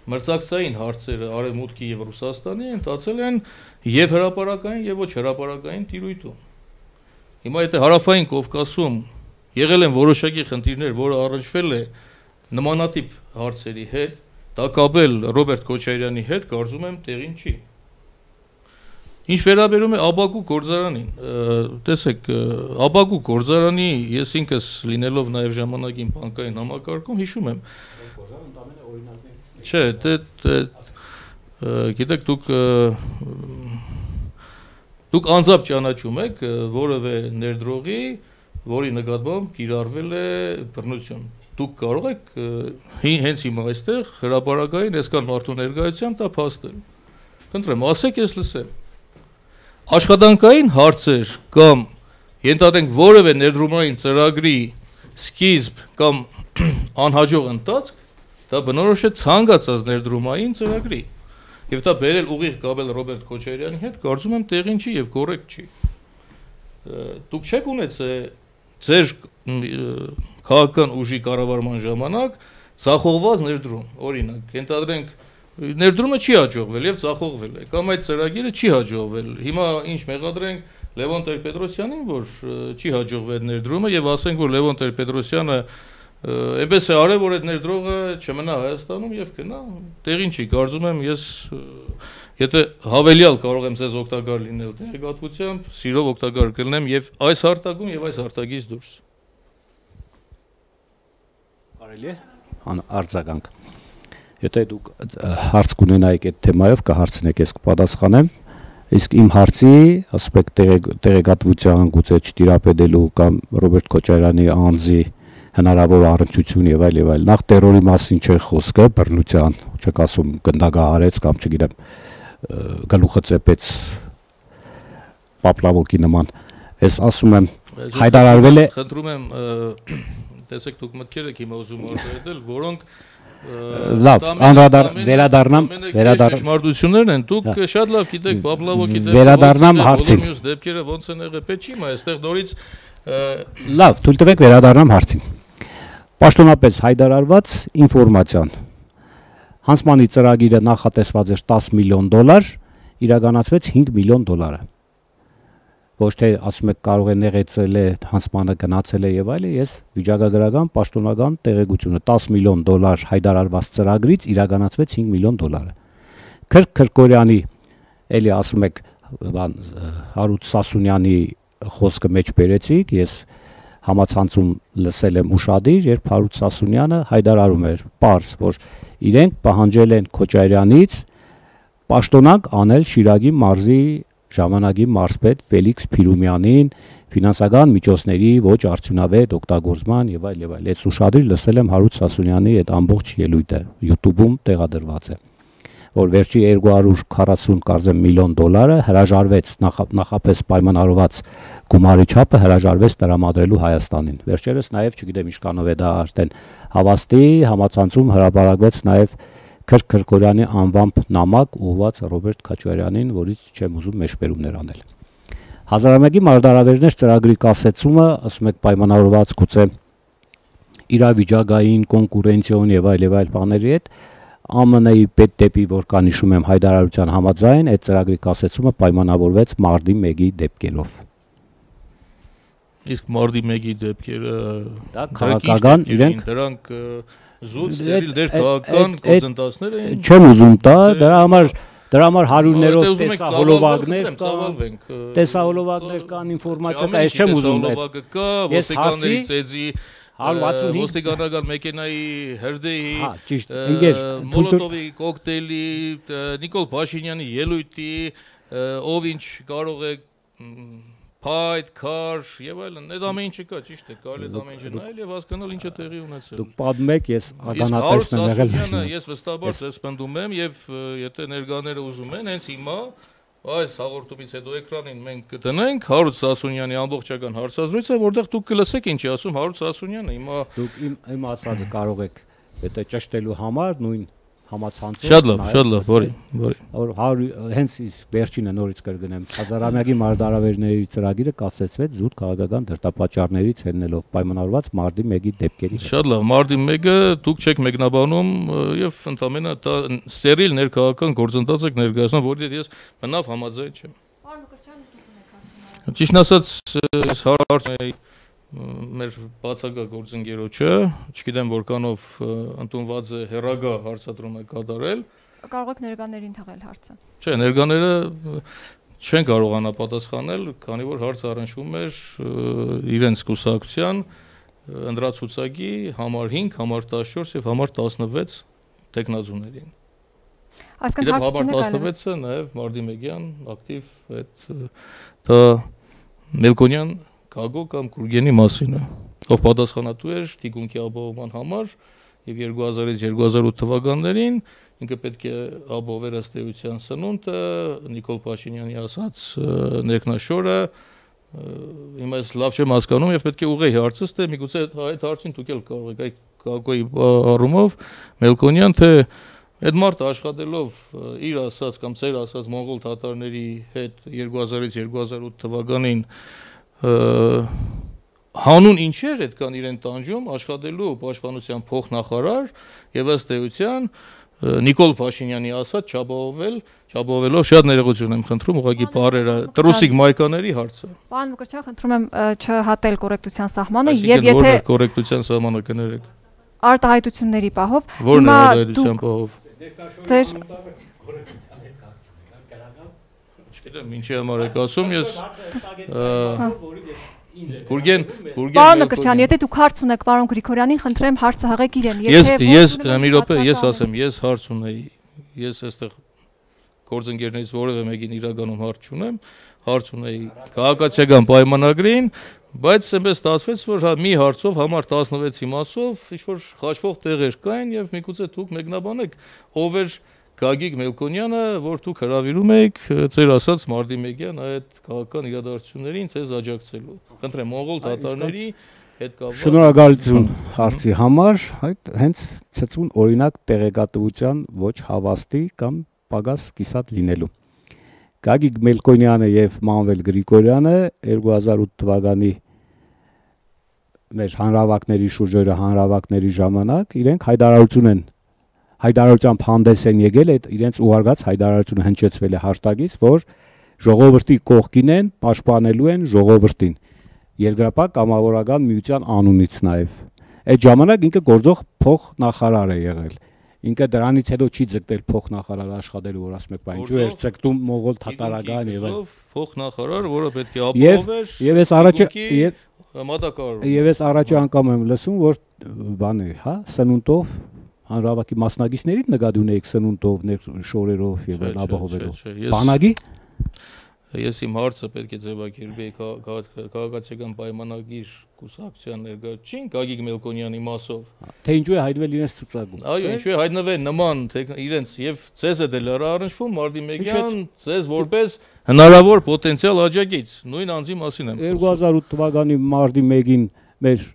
[SPEAKER 2] մրցակցային հարցերը Արևմուտքի եւ Ռուսաստանի ընթացել են եւ հրապարակային եւ ոչ հրապարակային տիրույթում։ Հիմա եթե Հարավային Կովկասում եղել են որոշակի խնդիրներ, որը առնչվել է նմանատիպ հարցերի հետ, դա կապել Ռոբերտ Քոչարյանի հետ, կարծում եմ տեղին չի։ Ինչ վերաբերում է Աբակու գործարանին, տեսեք, Աբակու գործարանի ես ինքս լինելով նաև ժամանակին բանկային համակարգում հիշում եմ։ Չէ, դե գիտեք դուք դուք անձամբ ճանաչում եք որևէ ներդրողի, որի նկատմամբ կիրառվել է բռնություն։ Դուք կարող եք հենց հիմա այստեղ հրապարակային այսքան մարդու ներկայությամբ դա փաստել։ Խնդրեմ, ասեք, ես լսեմ։ Աշխատանքային հարցեր կամ ենթադրենք որևէ ներդրումային ծրագրի սկիզբ կամ անհաջող ընթացք, դա բնորոշ է ցանկացած ներդրումային ծրագրի։ Եվ դա բերել ուղիղ կապել Ռոբերտ Քոչարյանի հետ, կարծում եմ տեղին չի եւ կոռեկտ չի։ Դուք չեք ունեցել ձեր քաղաքական ուժի կառավարման ժամանակ ցախողված ներդրում, օրինակ, ենթադրենք ներդրումը չի հաջողվել եւ ցախողվել է, կամ այդ ծրագիրը չի հաջողվել։ Հիմա ինչ մեղադրենք Լևոն Տեր-Պետրոսյանին, որ չի հաջողվել այդ ներդրումը եւ ասենք, որ Լևոն Տեր-Պետրոսյանը այնպես է արել, որ այդ ներդրողը չմնա Հայաստանում եւ գնա, տեղին չի, կարծում եմ ես եթե հավելյալ կարող եմ ձեզ օգտակար լինել տեղեկատվությամբ, սիրով օգտակար կլինեմ եւ այս հարթակում եւ այս հարթակից դուրս։
[SPEAKER 3] Կարելի է արձագանք։ Եթե դուք հարց կունենայիք այդ թեմայով, կհարցնեք, ես կպատասխանեմ։ Իսկ իմ հարցի, ասում եք տեղեկատվության գուցե չտիրապետելու կամ Ռոբերտ Քոչարյանի անձի հնարավոր առնչություն եւ այլ եւ այլ։ Նախ տերորի մասին չէ խոսքը, բռնության, չեք ասում գնդագահարեց կամ չգիտեմ գլուխը ծեփեց պապլավոկի նման։ Ես ասում եմ հայտարարվել է։
[SPEAKER 2] Խնդրում եմ, տեսեք դուք մտքեր եք հիմա ուզում արտահայտել, որոնք
[SPEAKER 3] լավ, անդրադառ վերադառնամ, վերադառնամ
[SPEAKER 2] ճշմարտություններն են, դուք շատ լավ գիտեք Պապլավոկի դեպքը,
[SPEAKER 3] վերադառնամ հարցին։
[SPEAKER 2] Մյուս դեպքերը ոնց են եղել, պետք չի, մա այստեղ նորից
[SPEAKER 3] լավ, թույլ տվեք վերադառնամ հարցին։ Պաշտոնապես հայտարարված ինֆորմացիան հանձնմանի ծրագիրը նախատեսված էր տասը միլիոն դոլար, իրականացվեց հինգ միլիոն դոլարը։ Ոչ թե ասում եք կարող է նեղեցել է, հանձնմանը գնացել է եւ այլն, ես վիճակագրական պաշտոնական տեղեկությունը տասը միլիոն դոլար հայտարարված ծրագրից իրականացվեց հինգ միլիոն դոլարը։ Քրքրկորյանի էլի ասում եք Հարութ Սասունյանի խոսքը մեջ բերեցիք, ես համացանցում լսել եմ ուշադիր, երբ Հարութ Սասունյանը հայտարարում էր պարզ, որ իրենք պահանջել են Քոչարյանից պաշտոնակ անել Շիրակի մարզի ժամանակի մարզպետ Ֆելիքս Փիրումյանին ֆինանսական միջոցների ոչ արդյունավետ օգտագործման եւ այլ եւ այլ։ Այս ուշադիր լսել եմ Հարութ Սասունյանի այդ ամբողջ ելույթը YouTube-ում տեղադրված է, որ վերջի երկու հարյուր քառասուն կարծեմ միլիոն դոլարը հրաժարվեց նախապես պայմանավորված գումարի չափը հրաժարվեց տրամադրելու Հայաստանին։ Վերջերս նաեւ չգիտեմ ինչքանով է դա արդեն հավաստի համացանցում հրապարակվեց նաեւ Քրքրկորյանի անվամբ նամակ ուղղված Ռոբերտ Քոչարյանին, որից չեմ ուզում մեջբերումներ անել։ Հազարամյակի մարտահրավերներ ծրագրի կասեցումը, ասում եք պայմանավորված գուցե իրավիճակային կոնկուրենցիոն եւ այլ եւ այլ բաների հետ, Ա Մ Ն-ի պետդեպի, որ կան հիշում եմ հայտարարության համաձայն, այդ ծրագրի կասեցումը պայմանավորվեց մարտի մեկի դեպքերով։
[SPEAKER 2] Իսկ մարտի մեկի դեպքերը
[SPEAKER 3] դա քաղաքական իրենք
[SPEAKER 2] դրանք զուտ ստերիլ դեր քաղաքական գործընթացներ են։
[SPEAKER 3] Չեմ ուզում տա, դրա համար դրա համար հարյուրներով տեսահոլովակներ կան, տեսահոլովակներ կան, ինֆորմացիա կա, ես չեմ ուզում այդ։
[SPEAKER 2] Ես ոստիկանների ծեծի ոստիկանական մեքենայի հրդեհի, մոլոտովի կոկտեյլի, Նիկոլ Փաշինյանի ելույթի, ով ինչ կարող է փայտ, քար եւ այլն, այդ ամեն ինչը կա, ճիշտ է, կարելի է ամեն ինչը նայել եւ հասկանալ ինչը տեղի ունեցել։
[SPEAKER 3] Դուք պատմեք, ես ականատեսն եմ եղել։
[SPEAKER 2] Ես վստահաբար ձեզ պնդում եմ եւ եթե ներկաները ուզում են, հենց հիմա այս հաղորդումից հետո էկրանին մենք կտնենք Հարութ Սասունյանի ամբողջական հարցազրույցը, որտեղ դուք կլսեք ինչի ասում Հարութ Սասունյանը։ Հիմա
[SPEAKER 3] դուք իմ ասածը կարող եք եթե ճշտելու համար նույն համացանցով։
[SPEAKER 2] Շատ լավ, շատ լավ, բարի, բարի։
[SPEAKER 3] Որ հենց իսկ վերջինը նորից կրկնեմ, հազարամյակի մարտահրավերների ծրագիրը կասեցվեց զուտ քաղաքական դրդապատճառներից ելնելով պայմանավորված մարտի մեկի դեպքերի։
[SPEAKER 2] Շատ լավ, մարտի մեկը դուք չեք մեկնաբանում եւ ընդամենը ստերիլ ներքաղաքական գործընթաց եք ներկայացնում, որի ես բնավ համաձայն չեմ։
[SPEAKER 1] Պարոն Մկրտչյան, դուք ունեք հարցը։
[SPEAKER 2] Ճիշտ ասած, ես հարցը մեր բացակա գործընկերոջը, չգիտեմ որքանով ընդունված է հերագա հարցադրում է կատարել։
[SPEAKER 1] Կարող եք ներկաներին թողել հարցը։
[SPEAKER 2] Չէ, ներկաները չեն կարողանա պատասխանել, քանի որ հարցը առնչվում էր իրենց կուսակցության ընտրացուցակի համար հինգ, համար տասնչորս եւ համար տասնվեց տեխնազուներին։
[SPEAKER 1] Այսինքն հարցը
[SPEAKER 2] համար տասնվեցը նաեւ Մարտի Մեգյան ակտիվ այդ դա Մելքոնյան Կագո կամ Կուրգենի մասին է, ով պատասխանատու էր թիկունքի ապահովման համար եւ երկու հազարից երկու հազար ութ թվականներին ինքը պետք է ապահովեր ըստ էության սնունդը, Նիկոլ Փաշինյանի ասած ներքնաշորը, հիմա ես լավ չեմ հասկանում եւ պետք է ուղղեի հարցս, թե միգուցե այդ հարցին դուք էլ կարող եք այդ Կագոյի առումով Մելքոնյան, թե այդ մարդը աշխատելով իր ասած կամ ծեր ասած մոնղոլ թաթարների հետ երկու հազարից երկու հազար ութ թվականին հանուն ինչեր այդ կան իրեն տանջում աշխատելու պաշտպանության փոխնախարար եւ ըստ էության Նիկոլ Փաշինյանի ասած չապահովել, չապահովելով շատ ներողություն եմ խնդրում, ուղղակի բառերը տրուսիկ մայկաների հարցը։
[SPEAKER 1] Պարոն Մկրտչյան, խնդրում եմ չհատել կոռեկտության սահմանը եւ եթե
[SPEAKER 2] որը կոռեկտության սահմանը կներեք։
[SPEAKER 1] Արտահայտությունների պահով
[SPEAKER 2] Որն է արտահայտության պահով։
[SPEAKER 1] Ձեր
[SPEAKER 2] Չգիտեմ ինչի համար եք ասում, ես Գուրգեն, Գուրգեն
[SPEAKER 1] Պարոն Մկրտչյան, եթե դուք հարց ունեք պարոն Գրիգորյանին, խնդրեմ հարցը հղեք իրեն,
[SPEAKER 2] եթե Ես մի րոպե, ես ասեմ, ես հարց ունեի, ես այստեղ գործընկերներից որևէ մեկին իրականում հարց չունեմ, հարց ունեի քաղաքացիական պայմանագրին, բայց այնպես ստացվեց, որ մի հարցով համար տասնվեցի մասով ինչ-որ խաչվող տեղեր կային եւ միգուցե դուք մեկնաբանեք, ով էր Գագիկ Մելքոնյանը, որ դուք հրավիրում եք ձեր ասած Մարտի Մեգյան այդ քաղաքական իրադարձություններին ձեզ աջակցելու։ Խնդրեմ, մոնղոլ թաթարների հետ կապված։
[SPEAKER 3] Շնորհակալություն հարցի համար, այդ հենց ցծուն օրինակ տեղեկատվության ոչ հավաստի կամ պակաս կիսատ լինելու։ Գագիկ Մելքոնյանը եւ Մանվել Գրիգորյանը երկու հազար ութ թվականի մեր հանրավակների շուրջօրյա հանրավակների ժամանակ իրենք հայտարարություն են հայտարարությամբ հանդես են եկել, այդ իրենց ուղարկած հայտարարությունը հնչեցվել է հաշտագից, որ ժողովրդի կողքին են, պաշտպանելու են ժողովրդին։ Երկրապահ կամավորական միության անունից նաև։ Այդ ժամանակ ինքը գործող փոխնախարար է եղել։ Ինքը դրանից հետո չի ձգտել փոխնախարար աշխատելու, որ ասում եք, բայց ինչու էր ձգտում մոնղոլ թաթարական եւ այլն։
[SPEAKER 2] Փոխնախարար, որը պետք է ապահովեր։
[SPEAKER 3] Եվ ես առաջ
[SPEAKER 2] մատակարարում։
[SPEAKER 3] Եվ ես առաջի անգամ եմ լսում, որ բան է, հա, սնունդով հանրավակի մասնակիցներից նկատի ունեիք սնունդով, շորերով եւ այլ ապահովելով։ Բանակի
[SPEAKER 2] Ես իմ հարցը պետք է ձևակերպեի քաղաքացիական պայմանագիր կուսակցության ներկայացուցիչ Գագիկ Մելքոնյանի մասով։
[SPEAKER 3] Թե ինչու է հայտնվել իրենց ցուցակում։
[SPEAKER 2] Այո, ինչու է հայտնվել նման իրենց եւ ցեզ է դել առնչվում Մարտի Մեգյան, ցեզ որպես հնարավոր պոտենցիալ աջակից, նույն անձի մասին եմ
[SPEAKER 3] երկու հազար ութ թվականի մարտի մեկին մեր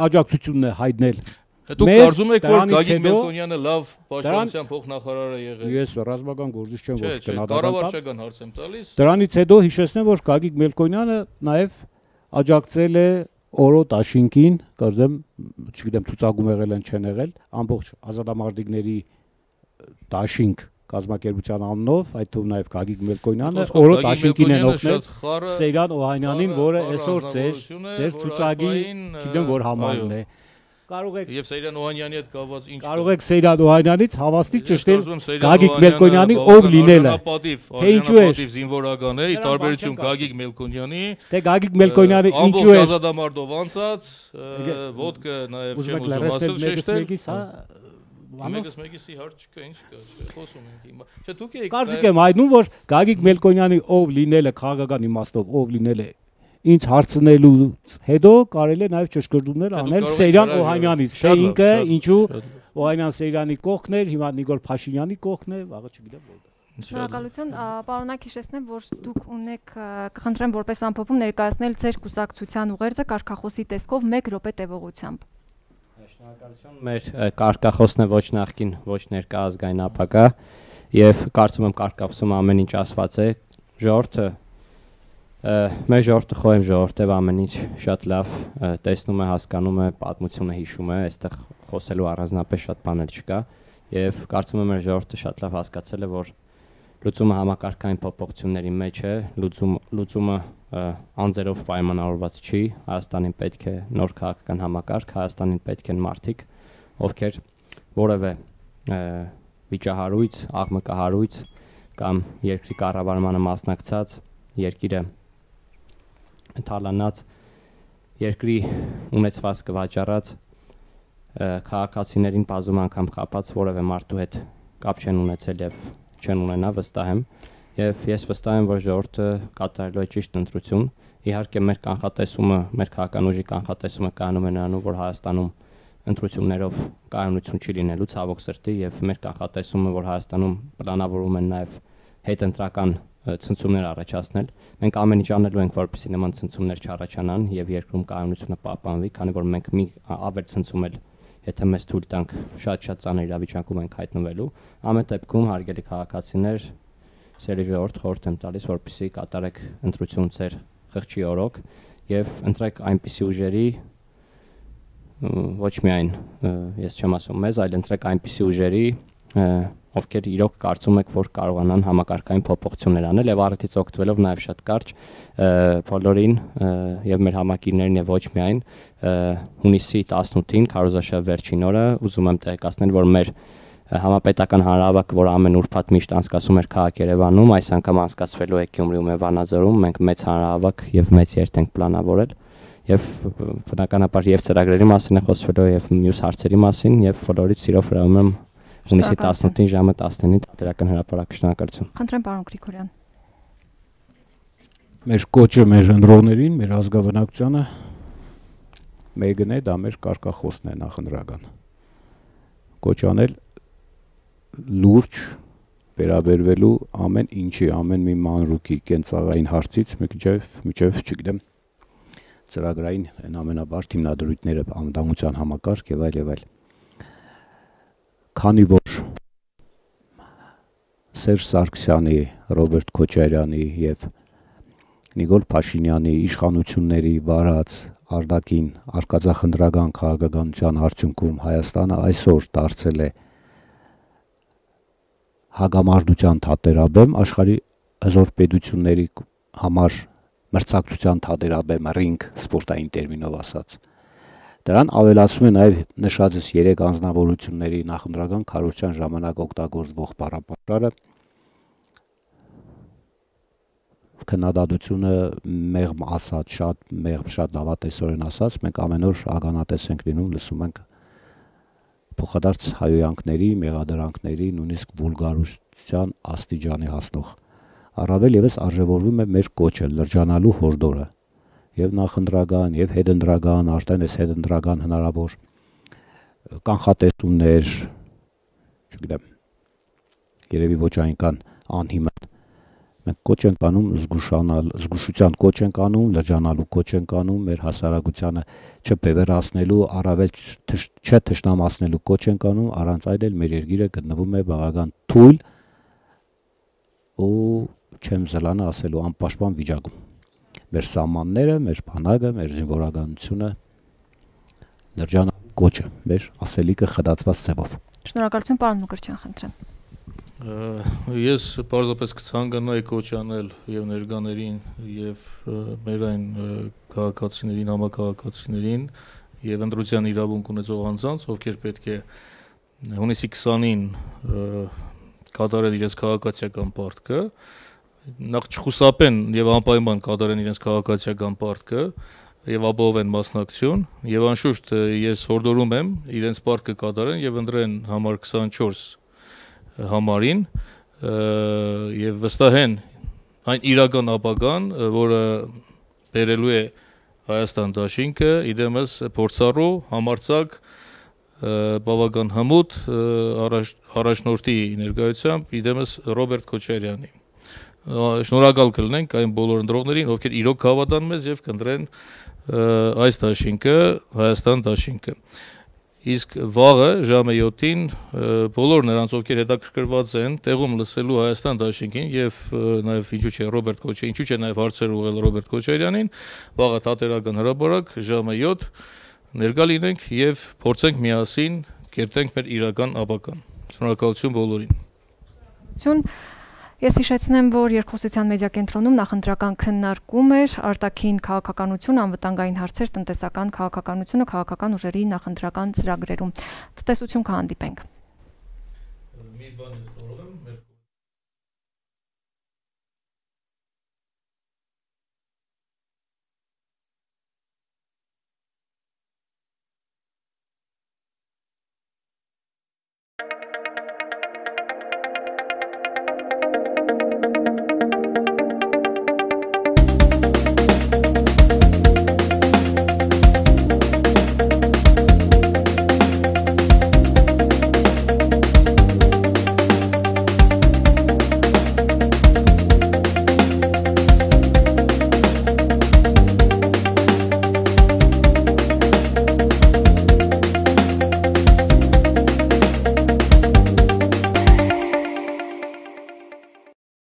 [SPEAKER 3] աջակցությունն է հայտնել։
[SPEAKER 2] Դուք կարծում եք, որ Գագիկ Մելքոնյանը լավ պաշտպանության փոխնախարար է եղել։
[SPEAKER 3] Ես ռազմական գործիչ չեմ, որ
[SPEAKER 2] կնադարական։ Կառավարչական հարց եմ տալիս։
[SPEAKER 3] Դրանից հետո հիշեցնեմ, որ Գագիկ Մելքոնյանը նաև աջակցել է Օրո Տաշինկին, կարծեմ, չգիտեմ ցուցակում եղել են չեն եղել, ամբողջ ազատամարտիկների Դաշինք կազմակերպության անունով, այդ թվում նաև Գագիկ Մելքոնյանը, որը Դաշինքին են օգնել Սեյրան Օհանյանին, որը այսօր ձեր ձեր ցուցակի, չգիտեմ որ համարն է։ Կարող եք
[SPEAKER 2] եւ Սեյրան Օհանյանի հետ կապված ինչ
[SPEAKER 3] կարող եք Սեյրան Օհանյանից հավաստի ճշտել Գագիկ Մելքոնյանի ով լինելը։
[SPEAKER 2] Թե ինչու է զինվորական է, ի տարբերություն Գագիկ Մելքոնյանի,
[SPEAKER 3] թե Գագիկ Մելքոնյանը ինչու է
[SPEAKER 2] ազատամարտով անցած, ոդկը նաեւ չեմ ուզում ասել շեշտել։ Մեկս մեկիսի հարց չկա, ինչ կա, խոսում ենք հիմա։ Չէ, դուք եք
[SPEAKER 3] Կարծիք եմ հայտնում, որ Գագիկ Մելքոնյանի ով լինելը քաղաքական իմաստով ով լինելը ինձ հարցնելուց հետո կարելի է նաև ճշգրտումներ անել Սեյրան Օհանյանից, թե ինքը ինչու Օհանյան Սեյրանի կողքն էր, հիմա Նիգոլ Փաշինյանի կողքն է, վաղը չգիտեմ որտեղ։
[SPEAKER 1] Շնորհակալություն, պարոնակ հիշեցնեմ, որ դուք ունեք կխնդրեմ որպես ամփոփում ներկայացնել ձեր կուսակցության ուղերձը կարգախոսի տեսքով մեկ րոպե տևողությամբ։
[SPEAKER 4] Շնորհակալություն, մեր կարգախոսն է ոչ նախկին, ոչ ներկա ազգային ապագա եւ կարծում եմ կարգախոսում ամեն ինչ ասված է, ժողովուրդը մեր ժողովուրդը խոհեմ ժողովուրդ է, ամեն ինչ շատ լավ տեսնում է, հասկանում է, պատմությունը հիշում է, այստեղ խոսելու առանձնապես շատ բաներ չկա եւ կարծում եմ մեր ժողովուրդը շատ լավ հասկացել է, որ լուծումը համակարգային փոփոխությունների մեջ է, լուծում լուծումը անձերով պայմանավորված չի, Հայաստանին պետք է նոր քաղաքական համակարգ, Հայաստանին պետք են մարդիկ, ովքեր որևէ վիճահարույց, աղմկահարույց կամ երկրի կառավարմանը մասնակցած, երկիրը թալանած, երկրի ունեցվածքը վաճառած, քաղաքացիներին բազում անգամ խաբած որևէ մարդու հետ կապ չեն ունեցել եւ չեն ունենա վստահ եմ եւ ես վստահ եմ որ ժողովուրդը կատարելու է ճիշտ ընտրություն իհարկե մեր կանխատեսումը մեր քաղաքական ուժի կանխատեսումը կայանում է նրանում որ Հայաստանում ընտրություններով կայունություն չի լինելու ցավոք սրտի եւ մեր կանխատեսումը որ Հայաստանում պլանավորում են նաեւ հետընտրական ցնցումներ առաջացնել մենք ամեն ինչ անելու ենք որպեսզի նման ցնցումներ չառաջանան եւ երկրում կայունությունը պահպանվի քանի որ մենք մի ավեր ցնցումել եթե մեզ թույլ տանք շատ-շատ ծանր իրավիճակում ենք հայտնվելու, ամեն դեպքում հարգելի քաղաքացիներ, սիրելի ժողովուրդ, խորհուրդ եմ տալիս, որպեսզի կատարեք ընտրություն ձեր խղճի օրոք եւ ընտրեք այնպիսի ուժերի ոչ միայն ես չեմ ասում մեզ, այլ ընտրեք այնպիսի ուժերի, ովքեր իրոք կարծում եք, որ կարողանան համակարգային փոփոխություններ անել եւ առիթից օգտվելով նաեւ շատ կարճ բոլորին եւ մեր համակիրներին եւ ոչ միայն հունիսի տասնութին քարոզաշահ վերջին օրը ուզում եմ տեղեկացնել, որ մեր համապետական հանրահավաքը, որ ամեն ուրբաթ միշտ անցկացում էր քաղաք Երևանում, այս անգամ անցկացվելու է Գյումրիում եւ Վանաձորում, մենք մեծ հանրահավաք եւ մեծ երթ ենք պլանավորել եւ բնականաբար եւ ծրագրերի մասին է խոսվելու եւ մյուս հարցերի մասին եւ բոլորից սիրով հրավիրում եմ հունիսի տասնութին ժամը տասնինին տատերական հրապարակ շնորհակալություն։
[SPEAKER 1] Խնդրեմ պարոն Գրիգորյան։
[SPEAKER 3] Մեր կոչը մեր ընտրողներին, մեր ազգաբնակչությանը մեկն է, դա մեր կարգախոսն է նախընտրական։ Կոչ անել լուրջ վերաբերվելու ամեն ինչի, ամեն մի մանրուքի կենցաղային հարցից մինչև մինչև չգիտեմ ծրագրային այն ամենաբարձ հիմնադրույթները անվտանգության համակարգ եւ այլ եւ այլ։ Քանի որ Սերժ Սարգսյանի, Ռոբերտ Քոչարյանի եւ Նիգոլ Փաշինյանի իշխանությունների վարած արդակին արկածախնդրական քաղաքականության արդյունքում Հայաստանը այսօր դարձել է հագամարտության թատերաբեմ աշխարհի հզոր պետությունների համար մրցակցության թատերաբեմ ռինգ սպորտային տերմինով ասած Դրան ավելացում է նաև նշածս երեք անձնավորությունների նախընտրական քարոզչության ժամանակ օգտագործվող բառապաշարը քննադատությունը մեղմ ասած, շատ մեղմ, շատ լավատեսորեն ասած, մենք ամեն օր ականատես ենք լինում, լսում ենք փոխադարձ հայոյանքների, մեղադրանքների, նույնիսկ վուլգարության աստիճանի հասնող։ Առավել եւս արժևորվում է մեր կոչը լրջանալու հորդորը։ Եվ նախընտրական, եւ հետընտրական, աշտեն էս հետընտրական հնարավոր կանխատեսումներ, չգիտեմ, երևի ոչ այնքան անհիմն։ Մենք կոչ ենք անում զգուշանալ, զգուշության կոչ ենք անում, լրջանալու կոչ ենք անում, մեր հասարակությանը չբևեռացնելու, առավել չթշնամացնելու կոչ ենք անում, առանց այդ էլ մեր երկիրը գտնվում է բավական թույլ ու չեմ զլանա ասելու անպաշտպան վիճակում։ Մեր սահմանները, մեր բանակը, մեր զինվորականությունը լրջանալու կոչը, մեր ասելիքը խդացված ձևով։
[SPEAKER 1] Շնորհակալություն պարոն Մկրտչյան, խնդրեմ։
[SPEAKER 2] Ես պարզապես կցանկանայի կոչ անել եւ ներկաներին եւ մեր այն քաղաքացիներին, համակարգացիներին եւ ընտրության իրավունք ունեցող անձանց, ովքեր պետք է հունիսի քսանին կատարեն իրենց քաղաքացիական պարտքը, նախ չխուսափեն եւ անպայման կատարեն իրենց քաղաքացիական պարտքը եւ ապահովեն մասնակցություն եւ անշուշտ ես հորդորում եմ իրենց պարտքը կատարեն եւ ընտրեն համար քսանչորս համարին եւ վստահեն այն իրական ապագան, որը բերելու է Հայաստան դաշինքը, իդեմս փորձառու, համարձակ, բավական հմուտ առաջնորդի ներկայությամբ, իդեմս Ռոբերտ Քոչարյանի։ Շնորհակալ կլինենք այն բոլոր ընտրողներին, ովքեր իրոք հավատան մեզ եւ կընտրեն այս դաշինքը, Հայաստան դաշինքը։ Իսկ վաղը ժամը յոթին բոլոր նրանց, ովքեր հետաքրքրված են տեղում լսելու Հայաստան դաշինքին եւ նաեւ ինչու՞ չէ Ռոբերտ Քոչարյանին, ինչու՞ չէ նաեւ հարցեր ուղղել Ռոբերտ Քոչարյանին, վաղը թատերական հրապարակ ժամը յոթ ներկա լինենք եւ փորձենք միասին կերտենք մեր իրական ապագան։ Շնորհակալություն բոլորին։
[SPEAKER 1] Ես հիշեցնեմ, որ երկխոսության մեդիա կենտրոնում նախընտրական քննարկում էր արտաքին քաղաքականություն, անվտանգային հարցեր, տնտեսական քաղաքականությունը, քաղաքական ուժերի նախընտրական ծրագրերում։ Ցտեսություն կհանդիպենք։
[SPEAKER 2] Մի բան ես